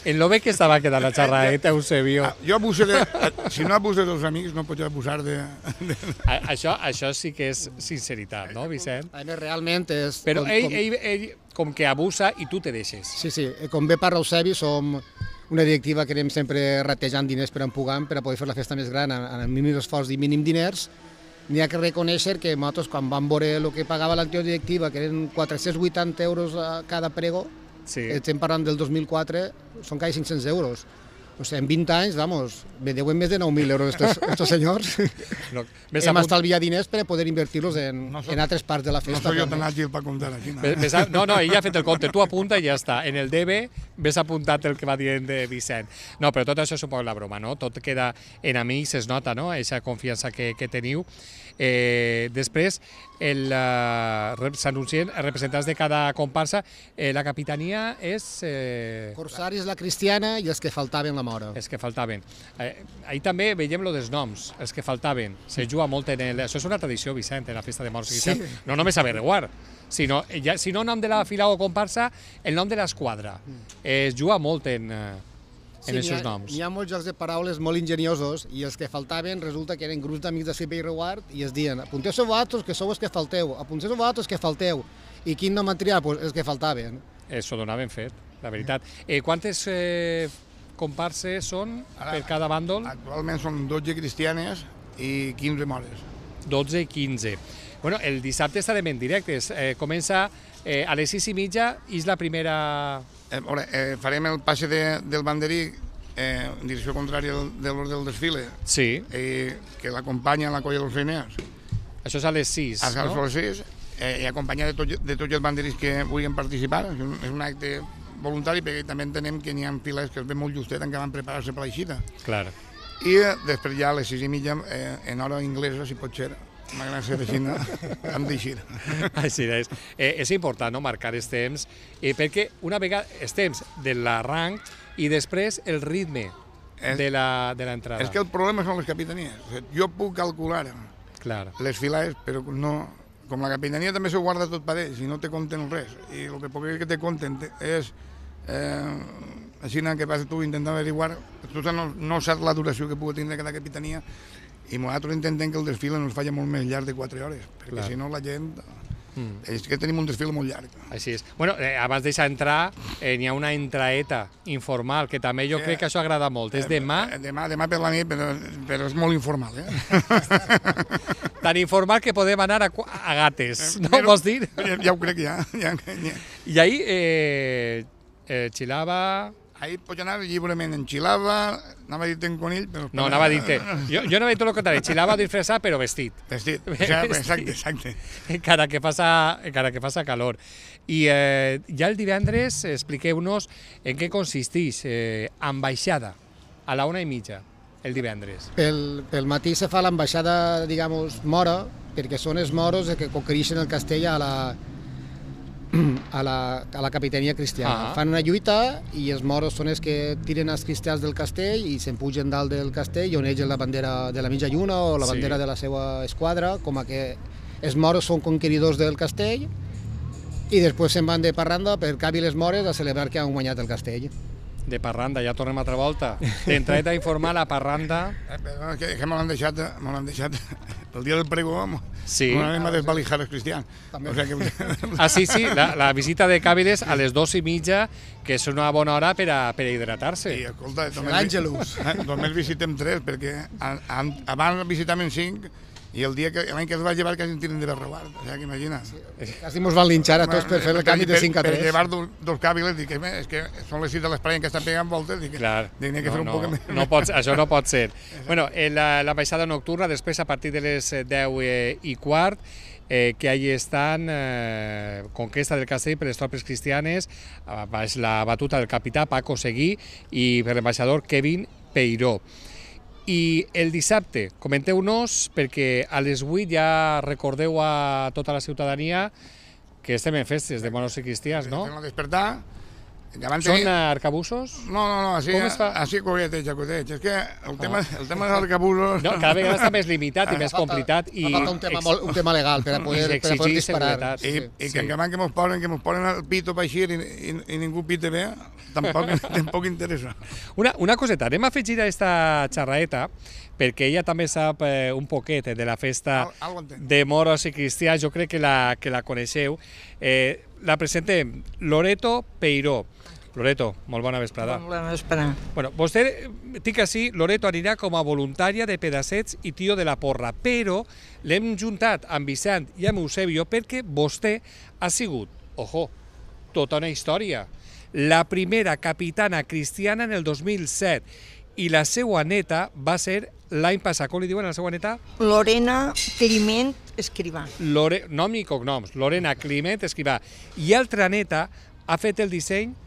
En lo bé que estava quedant la xerradeta, Eusebio. Jo abusaré, si no abuses dels amics, no pots abusar de... Això sí que és sinceritat, no, Vicent? Realment és... Però ell com que abusa i tu te deixes. Sí, com bé parla Eusebi, som una directiva que anem sempre ratejant diners per empugant per a poder fer la festa més gran amb mínim esforç i mínim diners. N'hi ha que reconèixer que nosaltres, quan vam veure el que pagava l'anterior directiva, que eren 480 euros a cada prego, estem parlant del 2004, són quasi 500 euros. O sigui, en 20 anys, vamos, deuen més de 9.000 euros estos senyors. Hem estalviat diners per poder invertir-los en altres parts de la festa. No soy jo tan àgil per comptar aquí. No, ell ha fet el compte, tu apunta i ja està. En el DB ves apuntat el que va dient de Vicent. No, però tot això és un poc la broma, no? Tot queda en amics, es nota, no?, aquesta confiança que teniu. Després s'anuncien representants de cada comparsa. La capitania és... Corsaris, la cristiana i els que faltaven la mora. Els que faltaven. Ahir també veiem lo dels noms, els que faltaven. Se juga molt en el... Això és una tradició, Vicent, en la festa de morts i cristians. No només a Bellreguard, sinó nom de la fila o comparsa, el nom de l'esquadra. Es juga molt en aquests noms. Hi ha molts jocs de paraules molt enginyosos i els que faltaven resulta que eren grups d'amics de Bellreguard i es diuen apunteu-se vosaltres que sou els que falteu, apunteu-se vosaltres que falteu. I quin nom han triat? Pues els que faltaven. Això dona ben fet, la veritat. Quantes comparses són per cada bàndol? Actualment són 12 cristianes i 15 mores. 12 i 15. Bueno, el dissabte estarem en directes. Comença a les 6:30 i és la primera... Farem el passe del banderí en direcció contrària del desfile. Sí. Que l'acompanya la colla dels Feiners. Això és a les 6, no? A les 6, i acompanyat de tots els banderís que vulguin participar. És un acte voluntari, perquè també entenem que n'hi ha files que es ve molt justet en què van preparar-se per l'eixida. Clar. I després ja a les 6:30, en hora inglesa, si pot ser, m'agrada ser així, hem d'eixir. Així és. És important, no?, marcar els temps, perquè una vegada els temps de l'arranc i després el ritme de l'entrada. És que el problema són les capitanies. Jo puc calcular les filades, però no... Com la capitania també s'ho guarda tot per ells i no te compten res. I el que poc que te compten és... Així que vas tu intentant averiguar, tu no saps la duració que pugui tindre cada capitania i nosaltres intentem que el desfile no es faci molt més llarg de 4 hores, perquè si no la gent... És que tenim un desfile molt llarg. Així és. Bueno, abans deixar entrar, n'hi ha una entraeta informal, que també jo crec que això agrada molt. És demà? Demà per la nit, però és molt informal, Tan informal que podem anar a gates, no vols dir? Ja ho crec, ja. I ahir, xilava... Ahir pots anar lliurement en xilava, anava a dir-te en conill, però... No, anava a dir-te... Jo anava a dir tot el contrari, xilava disfressat, però vestit. Vestit, exacte. Encara que passa calor. I ja el divendres expliqueu-nos en què consisteix ambaixada a la 1:30, el divendres. Pel matí se fa l'ambaixada, digamos, mora, perquè són els moros que conquereixen el castell a la capitania cristiana. Fan una lluita i els moros són els que tiren els cristians del castell i se'n pugen dalt del castell i onegen la bandera de la mitja lluna o la bandera de la seva esquadra, com a que els moros són conqueridors del castell i després se'n van de parranda per Cavi les Mores a celebrar que han guanyat el castell. De parranda, ja tornem altra volta. D'entrada informal a parranda... Que me l'han deixat el dia del pregó, m'anem a desvalijar els cristians. Sí, la visita de Càviles a les 2:30, que és una bona hora per a hidratar-se. Sí, escolta, només visitem 3, perquè abans visitàvem 5, i l'any que es va llevar quasi en tiren de Berreguard, o sigui, que imagina't. Quasi ens van linxar a tots per fer el canvi de 5 a 3. Per llevar dos càviles, dic, és que són les 6 de l'espai que estan pegant voltes, dic, n'hi ha que fer un poc més. Això no pot ser. Bueno, la baixada nocturna, després a partir de les 10:15, que allí estan conquesta del castell per les tropes cristianes, baix la batuta del capità Paco Seguí i per l'ambaixador Kevin Peiró. I el dissabte, comenteu-nos, perquè a les 8 ja recordeu a tota la ciutadania que estem en festes de moros i cristians, no? Estem a despertar. Són arcabusos? No, així coqueteig. És que el tema dels arcabusos... Cada vegada està més limitat i més complicat. Un tema legal per a poder disparar. I que en que mos posen el pito per així i ningú pite bé, tampoc interessa. Una coseta, anem a afegir a aquesta xerraeta, perquè ella també sap un poquet de la festa de moros i cristians, jo crec que la coneixeu. La presentem, Loreto Peiró. Loreto, molt bona vesprada. Molt bona vesprada. Bueno, vostè, dic així, Loreto anirà com a voluntària de Pedassets i Tio de la Porra, però l'hem juntat amb Vicent i amb Eusebio perquè vostè ha sigut, tota una història. La primera capitana cristiana en el 2007 i la seva neta va ser l'any passat. Com li diuen a la seva neta? Lorena Climent Escrivà. Nom i cognoms. Lorena Climent Escrivà. I altra neta ha fet el disseny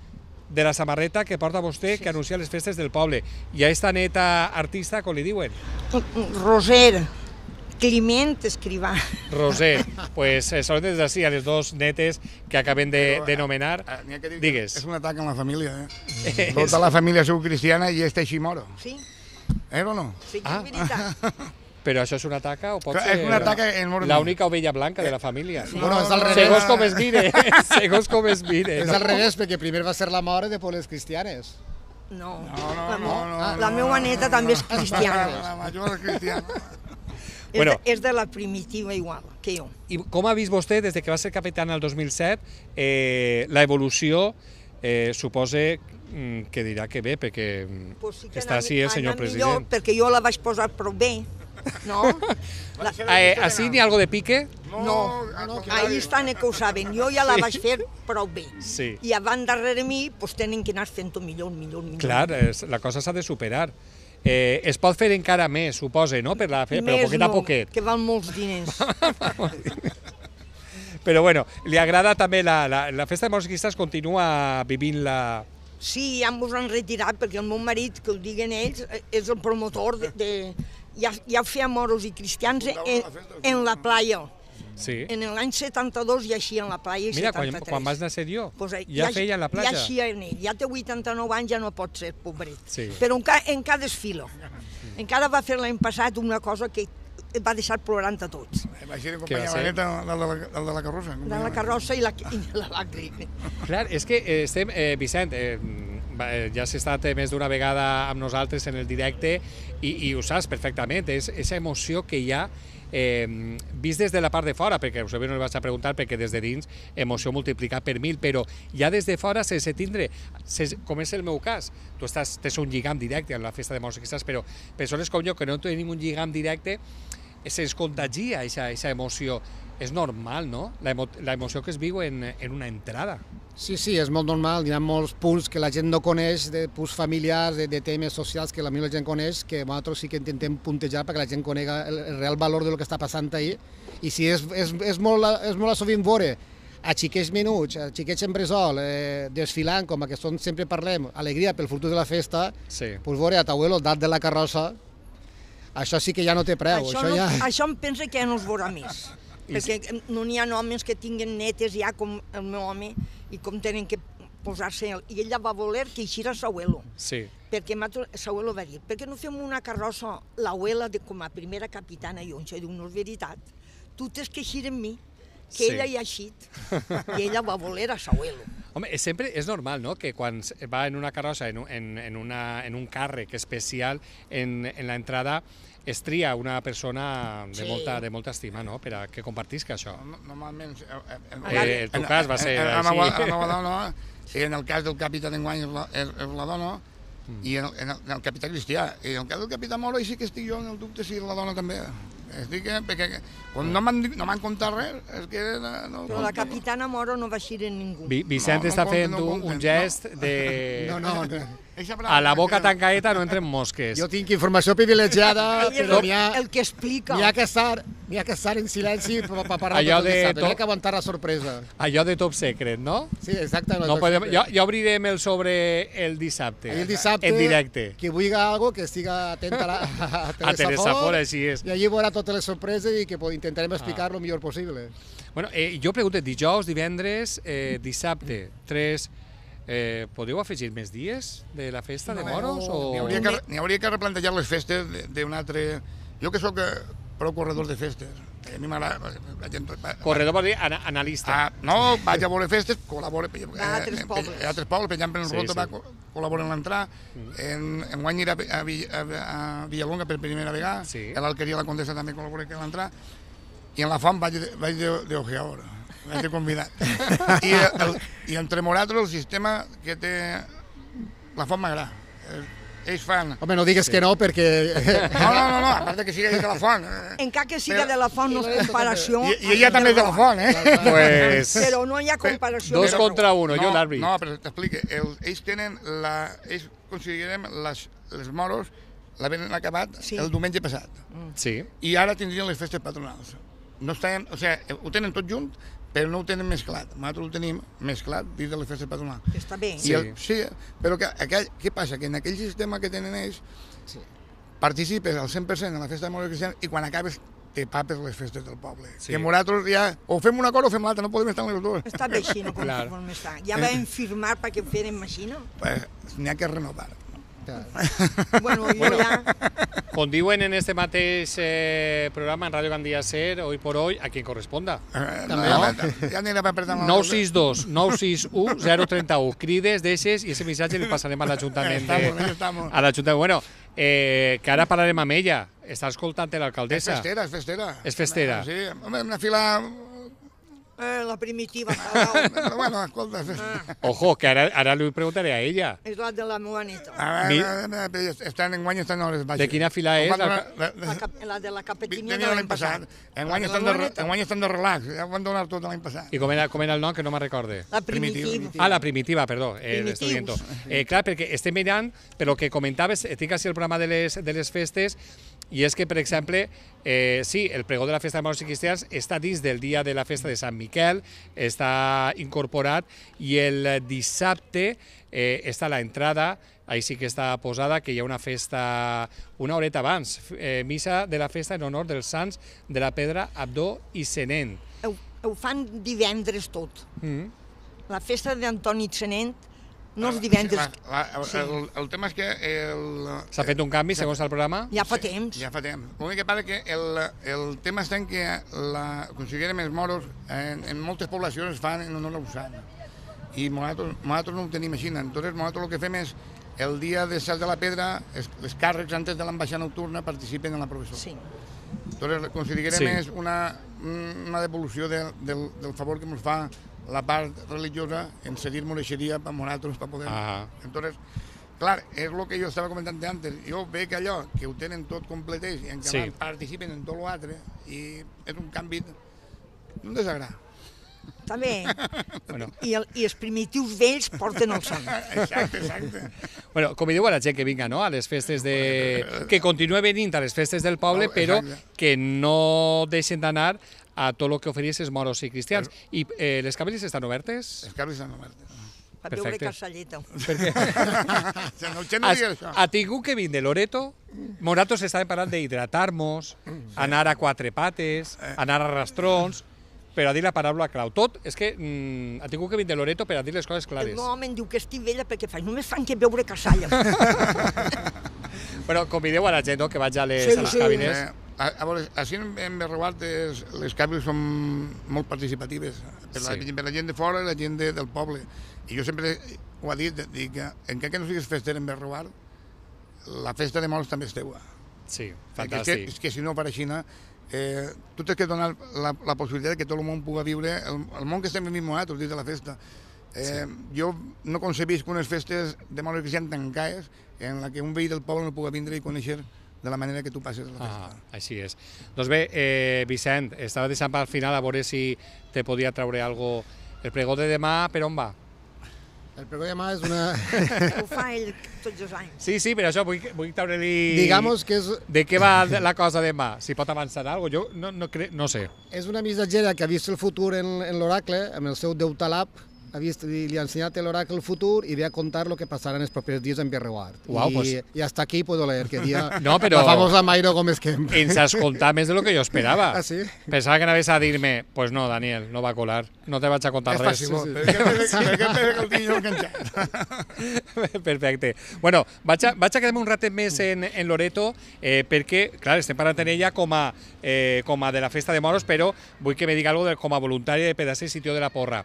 de la samarreta que porta vostè, que anuncia les festes del poble. I a esta neta artista, com li diuen? Roser Climent Escrivà. Roser. Pues són des d'ací a les dos netes que acabem de nomenar. Digues. És un atac en la família, Tota la família sou cristiana i este així moro. Sí. O no? Sí, és veritat. Però això és una taca o pot ser l'única ovella blanca de la família? No, és al revés. Segons com es mire. Segons com es mire. És al revés, perquè primer va ser la mort i després les cristianes. No. La meva neta també és cristiana. La major és cristiana. És de la primitiva igual que jo. I com ha vist vostè, des que va ser capitana el 2007, l'evolució, suposa que dirà que bé, perquè està així el senyor president. Perquè jo la vaig posar prou bé, no? Així n'hi ha algo de pique? No, ahí estan que ho saben. Jo ja la vaig fer prou bé. I abans darrere mi tenen que anar fent-ho millor. Clar, la cosa s'ha de superar. Es pot fer encara més, suposa, no? Però poquet a poquet. Que val molts diners. Però bueno, li agrada també la festa de morts i cristians, continua vivint-la... Sí, ja ens han retirat perquè el meu marit, que ho diguen ells, és el promotor de... Ja feia moros i cristians en la playa. Sí. En l'any 72 ja eixia en la playa i 73. Mira, quan vas néixer jo, ja feia en la platja. Ja eixia en ell, ja té 89 anys, ja no pot ser, pobret. Sí. Però encara desfila. Encara va fer l'any passat una cosa que va deixar plorant a tots. Va ser companya la neta, el de la carrossa. De la carrossa i la làgrima. Clar, és que estem, Vicent, ja has estat més d'una vegada amb nosaltres en el directe i ho saps perfectament, és aquesta emoció que hi ha vist des de la part de fora, perquè us no li vaig a preguntar, perquè des de dins emoció multiplicat per 1000, però ja des de fora sense tindre, com és el meu cas, tu tens un lligam directe en la festa de morts i cristians, però persones com jo que no tenim un lligam directe, se'ns contagia aquesta emoció. És normal, no?, la emoció que es viu en una entrada. Sí, és molt normal. Hi ha molts punts que la gent no coneix, de punts familiars, de temes socials que la gent coneix, que nosaltres sí que intentem puntejar perquè la gent conega el real valor del que està passant ahir. I sí, és molt sovint veure a xiquets menuts, a xiquets en bressol, desfilant, com que sempre parlem, alegria pel futur de la festa, doncs veure a t'abuelo dalt de la carrossa, això sí que ja no té preu. Això em pensa que ja no es veurà més. Perquè no n'hi ha homes que tinguen netes ja com el meu home i com tenen que posar-se... I ella va voler que eixira s'abuelo. Sí. Perquè s'abuelo va dir, per què no fem una carrossa l'abuela com a primera capitana? I jo diu, no és veritat, tu tens que eixir amb mi, que ella hi ha eixit. I ella va voler a s'abuelo. Home, sempre és normal, no?, que quan va en una carrossa, en un càrrec especial en l'entrada, es tria una persona de molta estima, no?, per a que compartisca això. Normalment... En tu cas va ser així. La meva dona, en el cas del capità d'enguany és la dona, i en el capità cristià. I en el cas del capità Moro, sí que estic jo en el dubte si la dona també. Perquè quan no m'han contat res, és que... Però la capitana Moro no va eixir en ningú. Vicent està fent un gest de... A la boca tancadeta no entren mosques. Jo tinc informació privilegiada, però el que explica. N'hi ha que estar en silenci per parlar de tot dissabte, n'hi ha que aguantar la sorpresa. Allò de top secret, no? Sí, exacte. Ja obrirem el sobre el dissabte, en directe. Qui vulgui alguna cosa, que estiga atent a Teresa Fora, així és. I allí veurà totes les sorpreses i que intentarem explicar-lo el millor possible. Bueno, jo pregunto, dijous, divendres, dissabte, 3... podeu afegir més dies de la festa de moros? N'hi hauria que replantejar les festes d'un altre... Jo que sóc prou corredor de festes. A mi m'agrada... Corredor vol dir analista. No, vaig a veure festes, col·laboro... A altres pobles. A altres pobles, per exemple, en Rota va col·laborar en l'entrada. Enguany era a Villalonga per primera vegada. A l'Alqueria la Condessa també col·labora en l'entrada. I en la Font vaig d'ojeador. Vaig de convidat. I entre nosaltres el sistema que té la Font m'agrada. Ells fan... Home, no digues que no, perquè... No, a part que siga de la Font. Encara que siga de la Font no és comparació... I ella també és de la Font, Però no hi ha comparació. 2 contra 1, jo l'àrbit. No, però t'explico. Ells tenen ells considerem les moros l'havien acabat el diumenge passat. Sí. I ara tindrien les festes patronals. No estan, o sigui, ho tenen tot junt, però no ho tenen mesclat. Nosaltres ho tenim mesclat dins de les festes patronals. Està bé. Sí, però què passa? Que en aquell sistema que tenen ells participes al 100% en la festa de moros cristians i quan acabes te papes les festes del poble. Que nosaltres ja o fem una cosa o fem l'altra, no podem estar en les dues. Està bé així, no podem estar. Ja vam firmar perquè ho fèrem així, no? N'hi ha que renovar. Bueno, ya... Con diuen en este mateix programa en Radio Gandia Ser, hoy por hoy, a quien corresponda. Ja anirà per apretar... 962 961 031. Crides d'eixes i ese missatge li passarem a l'Ajuntament. A l'Ajuntament. Bueno, que ara parlarem amb ella. Està escoltant l'alcaldessa. És festera. És festera. Sí, una fila... La primitiva. Bueno, escolta. Ojo, que ara li preguntaré a ella. És la de la meva neta. Enguany estan hores baixes. De quina fila és? La de la capetina de l'any passat. Enguany estan de relax, ja ho van donar tot l'any passat. I com era el nom, que no me'n recorde? La primitiva. La primitiva, perdó. Clar, perquè estem mirant, però que comentaves, tinc així el programa de les festes, I és que, per exemple, sí, el pregó de la festa de moros i cristians està dins del dia de la festa de Sant Miquel, està incorporat, i el dissabte està la entrada, ahí sí que està posada, que hi ha una festa una horeta abans, missa de la festa en honor dels sants de la Pedra, Abdó i Senent. Ho fan divendres tot. La festa d'Antoni Senent no és divendres. El tema és que... S'ha fet un canvi segons el programa? Ja fa temps. Ja fa temps. L'únic que passa que el tema està en que considerem els moros en moltes poblacions es fan en honor a un sant. I nosaltres no ho tenim així. Entonces nosaltres el que fem és el dia de Sals de la Pedra, els càrrecs antes de l'ambaixada nocturna participen en la processó. Sí. Entonces considerem és una devolució del favor que ens fa la part religiosa en seguir moreixeria per nosaltres, per poder... Entonces, clar, és el que jo estava comentant antes. Jo veig allò, que ho tenen tot completeix i en què participen en tot l'altre, i és un canvi, un desagrada. També. I els primitius vells porten el sant. Exacte. Bueno, convideu a la gent que vinga, no?, a les festes de... que continue venint a les festes del poble, però que no deixen d'anar a tot el que oferís els moros i cristians. I les cabeles estan obertes? Les cabeles estan obertes. Per veure Casalleta. Per què? Ha tingut que vindre de Loreto? Nosaltres estàvem parlant d'hidratar-nos, anar a quatre pates, anar a rastrons, per a dir la paraula clau. Tot és que ha tingut que vindre de Loreto per a dir les coses clares. El meu home em diu que estic vella perquè només fan que veure Casalla. Bueno, convideu a la gent que vaig a les cabines. A veure, així en Berreguard les cabines són molt participatives per la gent de fora i la gent del poble. I jo sempre ho he dit, dic que encara que no siguis fester en Berreguard, la festa de moros també és teua. Sí, fantàstic. És que si no per així, tu tens que donar la possibilitat que tot el món pugui viure el món que estem vivint nosaltres dins de la festa. Jo no concebisc unes festes de moros que siguin tancades en la que un veí del poble no pugui vindre i conèixer de la manera que tu passes la festa. Així és. Doncs bé, Vicent, estava deixant per al final a veure si te podia treure alguna cosa. El pregó de demà, per on va? El pregó de demà és una... Ho fa ell tots els anys. Sí, per això vull treure-li... Digamos que és... De què va la cosa demà? Si pot avançar alguna cosa? Jo no sé. És una missatgera que ha vist el futur en l'oracle, amb el seu Déu Talab, li ha ensenyat l'oracle el futur i ve a contar el que passarà en els propers dies en Berreguard. I hasta aquí puedo leer que dia la famosa Mairo Gómez Kemp. Ens has contat més de lo que jo esperava. Ah, sí? Pensava que anaves a dir-me, pues no, Daniel, no va a colar, no te vaig a contar res. És fàcil, perquè el tinc enganxat. Perfecte. Bueno, vaig a quedar-me un ratet més en Loreto, perquè, clar, estem parlant en ella com a de la festa de moros, però vull que me diga alguna cosa com a voluntària de Pedacer i Tio de la Porra.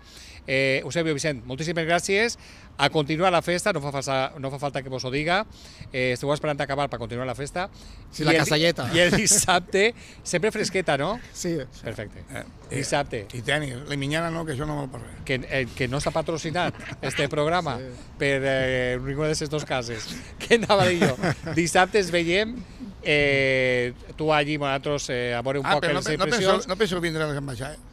Eusebio, Vicent, moltíssimes gràcies. A continuar la festa, no fa falta que vos ho diga. Esteu esperant acabar per continuar la festa. Sí, la casalleta. I el dissabte, sempre fresqueta, no? Sí. Perfecte. Dissabte. I tenis, la minyana no, que això no val per res. Que no està patrocinat este programa per ninguna de aquestes dues cases. Què anava a dir jo? Dissabte es veiem, tu allí, nosaltres, a veure un poc les impressions. No penso vindre a les ambaixades.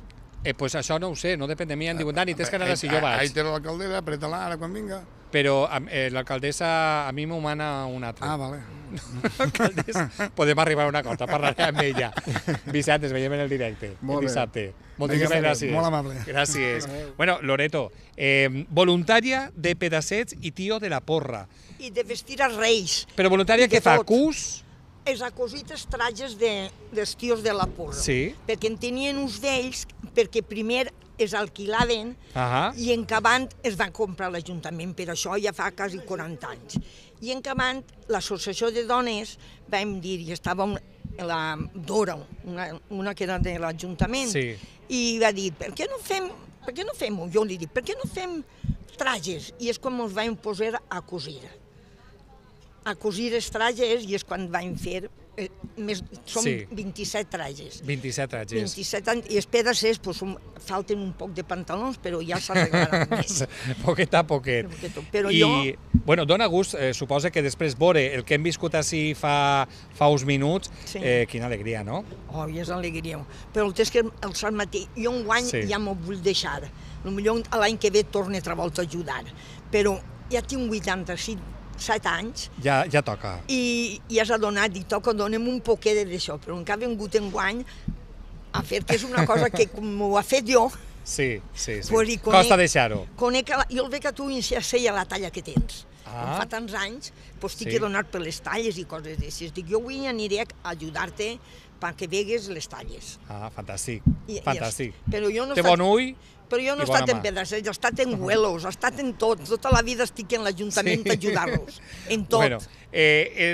Pues això no ho sé, no depèn de mi. Em diuen, Dani, tens que anar si jo vaig. Ahí té l'alcaldessa, apreta-la ara quan vinga. Però l'alcaldessa a mi m'ho mana un altre. Ah, vale. L'alcaldessa, podem arribar a una cosa, parlaré amb ella. Vicent, ens veiem en el directe, el dissabte. Moltíssimes gràcies. Molt amable. Gràcies. Bueno, Loreto, voluntària de Pedacets i Tio de la Porra. I de vestir els reis. Però voluntària que fa cus... És a cosites trajes dels tios de la Porra. Sí. Perquè en tenien uns d'ells, perquè primer es alquilaven i en acabant es van comprar l'Ajuntament, per això ja fa quasi 40 anys. I en acabant l'associació de dones vam dir, i estava la Dora, una que era de l'Ajuntament, i va dir, per què no fem-ho? Jo li dic, per què no fem trajes? I és quan ens vam posar a cosir. A cosir els trajes i és quan vam fer, són 27 trajes. 27 trajes. 27 anys, i els pedacers falten un poc de pantalons, però ja s'arreglaran més. Poquet a poquet. I, bueno, dona gust, suposa que després veure el que hem viscut així fa uns minuts, quina alegria, no? Oh, és alegria. Però el temps que el Sant Matí, jo enguany ja m'ho vull deixar. Potser l'any que ve torno altra volta a ajudar. Però ja tinc 85 7 anys. Ja toca. I has adonat, i toca, dona'm un poquet d'això, però encara he vingut enguany a fer que és una cosa que com ho ha fet jo. Sí. Costa deixar-ho. Jo el veig a tu i ja sé la talla que tens. Com fa tants anys, t'he donat per les talles i coses d'aixes. Dic, jo avui aniré a ajudar-te perquè vegues les talles. Fantàstic. Té bon ull. Però jo no he estat en pedaços, he estat en vuelos, he estat en tot. Tota la vida estic en l'Ajuntament a ajudar-los, en tot. Bueno,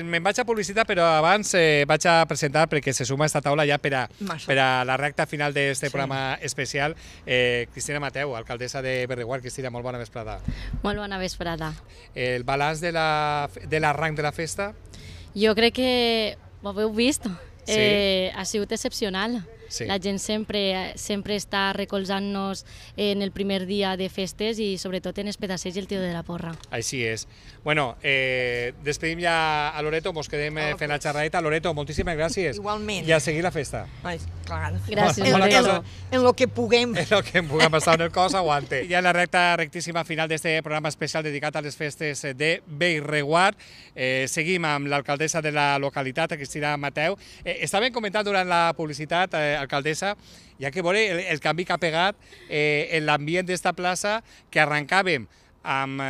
me'n vaig a publicitar, però abans vaig a presentar, perquè se suma a esta taula ja per a la recta final d'aquest programa especial, Cristina Mateu, alcaldessa de Bellreguard. Cristina, molt bona vesprada. Molt bona vesprada. El balanç de l'arranc de la festa? Jo crec que ho heu vist. Ha sigut excepcional. La gent sempre està recolzant-nos en el primer dia de festes i sobretot en els pedaços i el tio de la porra. Així és. Bueno, despedim ja a Loreto, mos quedem fent la xerradeta. Loreto, moltíssimes gràcies. Igualment. I a seguir la festa. Clar. Gràcies, Loreto. En lo que puguem. En lo que puguem estar en el cos, aguante. Ja en la rectíssima final d'este programa especial dedicat a les festes de Bellreguard. Seguim amb l'alcaldessa de la localitat, Cristina Mateu. Estàvem comentant durant la publicitat, alcaldessa, ja que veure el canvi que ha pegat en l'ambient d'esta plaça, que arrencàvem amb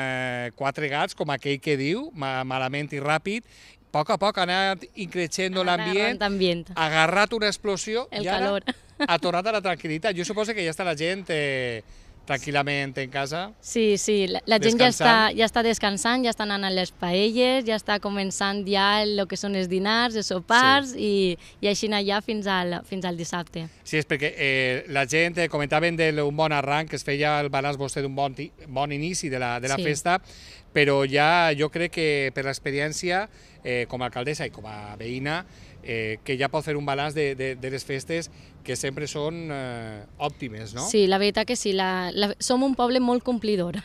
4 gats, com aquell que diu, malament i ràpid. A poc ha anat increixent l'ambient, ha agarrat una explosió i ara ha tornat a la tranquil·litat. Jo suposo que ja està la gent tranquil·lament en casa. Sí, la gent ja està descansant, ja està anant a les paelles, ja està començant ja el que són els dinars, els sopars, i així anar ja fins al dissabte. Sí, és perquè la gent comentaven d'un bon arranc, que es feia el balanç vostè d'un bon inici de la festa, però ja jo crec que per l'experiència, com a alcaldessa i com a veïna, que ja pot fer un balanç de les festes que sempre són òptimes, no? Sí, la veritat que sí. Som un poble molt complidor.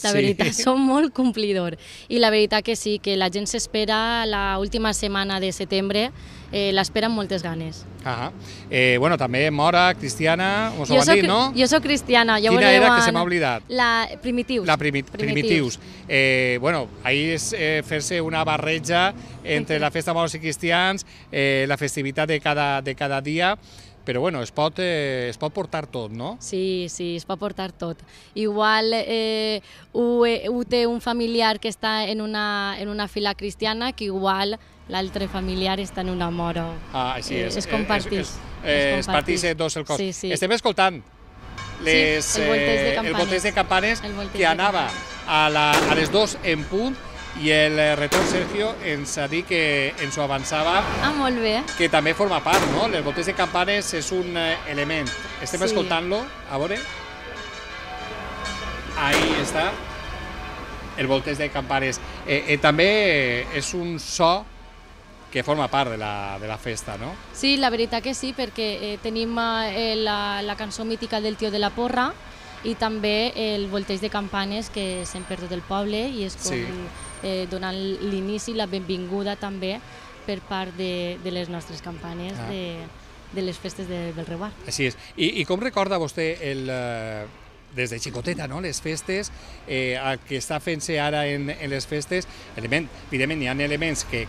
La veritat, som molt complidor. I la veritat que sí, que la gent s'espera l'última setmana de setembre, l'espera amb moltes ganes. Bueno, també Mora, Cristiana, us ho van dir, no? Jo soc cristiana. Quina era, que se m'ha oblidat? La Primitius. La Primitius. Bueno, ahir és fer-se una barreja entre la festa moros i cristians, la festivitat de cada dia, però bueno, es pot portar tot, no? Sí, es pot portar tot. Igual ho té un familiar que està en una fila cristiana, que igual l'altre familiar està en una mora. Així és. Es compartís. Es partís dos el cos. Estem escoltant el volteig de campanes que anava a les 2 en punt, i el retorn Sergio ens ha dit que ens ho avançava. Molt bé. Que també forma part, no? El volteig de campanes és un element. Estem escoltant-lo, a veure. Ahí està, el volteig de campanes. També és un so que forma part de la festa, no? Sí, la veritat que sí, perquè tenim la cançó mítica del tio de la porra i també el volteig de campanes que s'han perdut del poble, i és com donant l'inici, la benvinguda també per part de les nostres campanes de les festes de Bellreguard. Així és. I com recorda vostè des de xicoteta, no? Les festes, el que està fent-se ara en les festes, evidentment hi ha elements que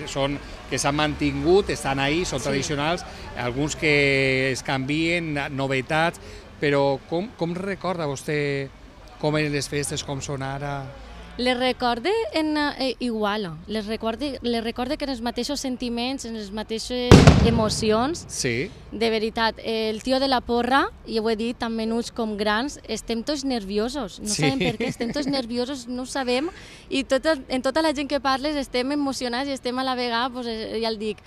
s'han mantingut, estan ahí, són tradicionals, alguns que es canvien, novetats, però com recorda vostè com eren les festes, com són ara? Les recorde igual, les recorde que en els mateixos sentiments, en les mateixes emocions. Sí. De veritat, el tio de la porra, i ho he dit, tant menuts com grans, estem tots nerviosos. No sabem per què, estem tots nerviosos, no ho sabem, i en tota la gent que parles estem emocionats i estem a la vegada, ja el dic,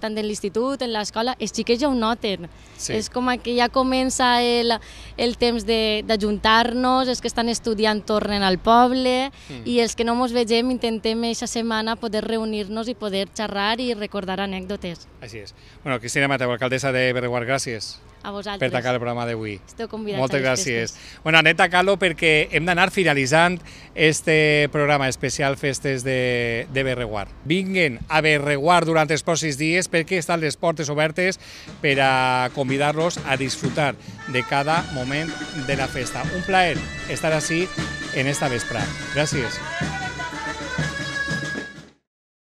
tant en l'institut, en l'escola, els xiquets ja ho noten. És com que ja comença el temps d'ajuntar-nos, els que estan estudiant tornen al poble, i els que no ens vegem intentem aquesta setmana poder reunir-nos i poder xerrar i recordar anècdotes. Així és. Bueno, Cristina Mateu, alcaldessa de Bellreguard, gràcies. A vosaltres. Per tancar el programa d'avui. Esteu convidats. Moltes gràcies. Bueno, anem tancant-lo perquè hem d'anar finalitzant este programa especial Festes de Bellreguard. Vinguen a Bellreguard durant els pròxims dies perquè estan les portes obertes per a convidar-los a disfrutar de cada moment de la festa. Un plaer estar així en esta vesprada. Gràcies.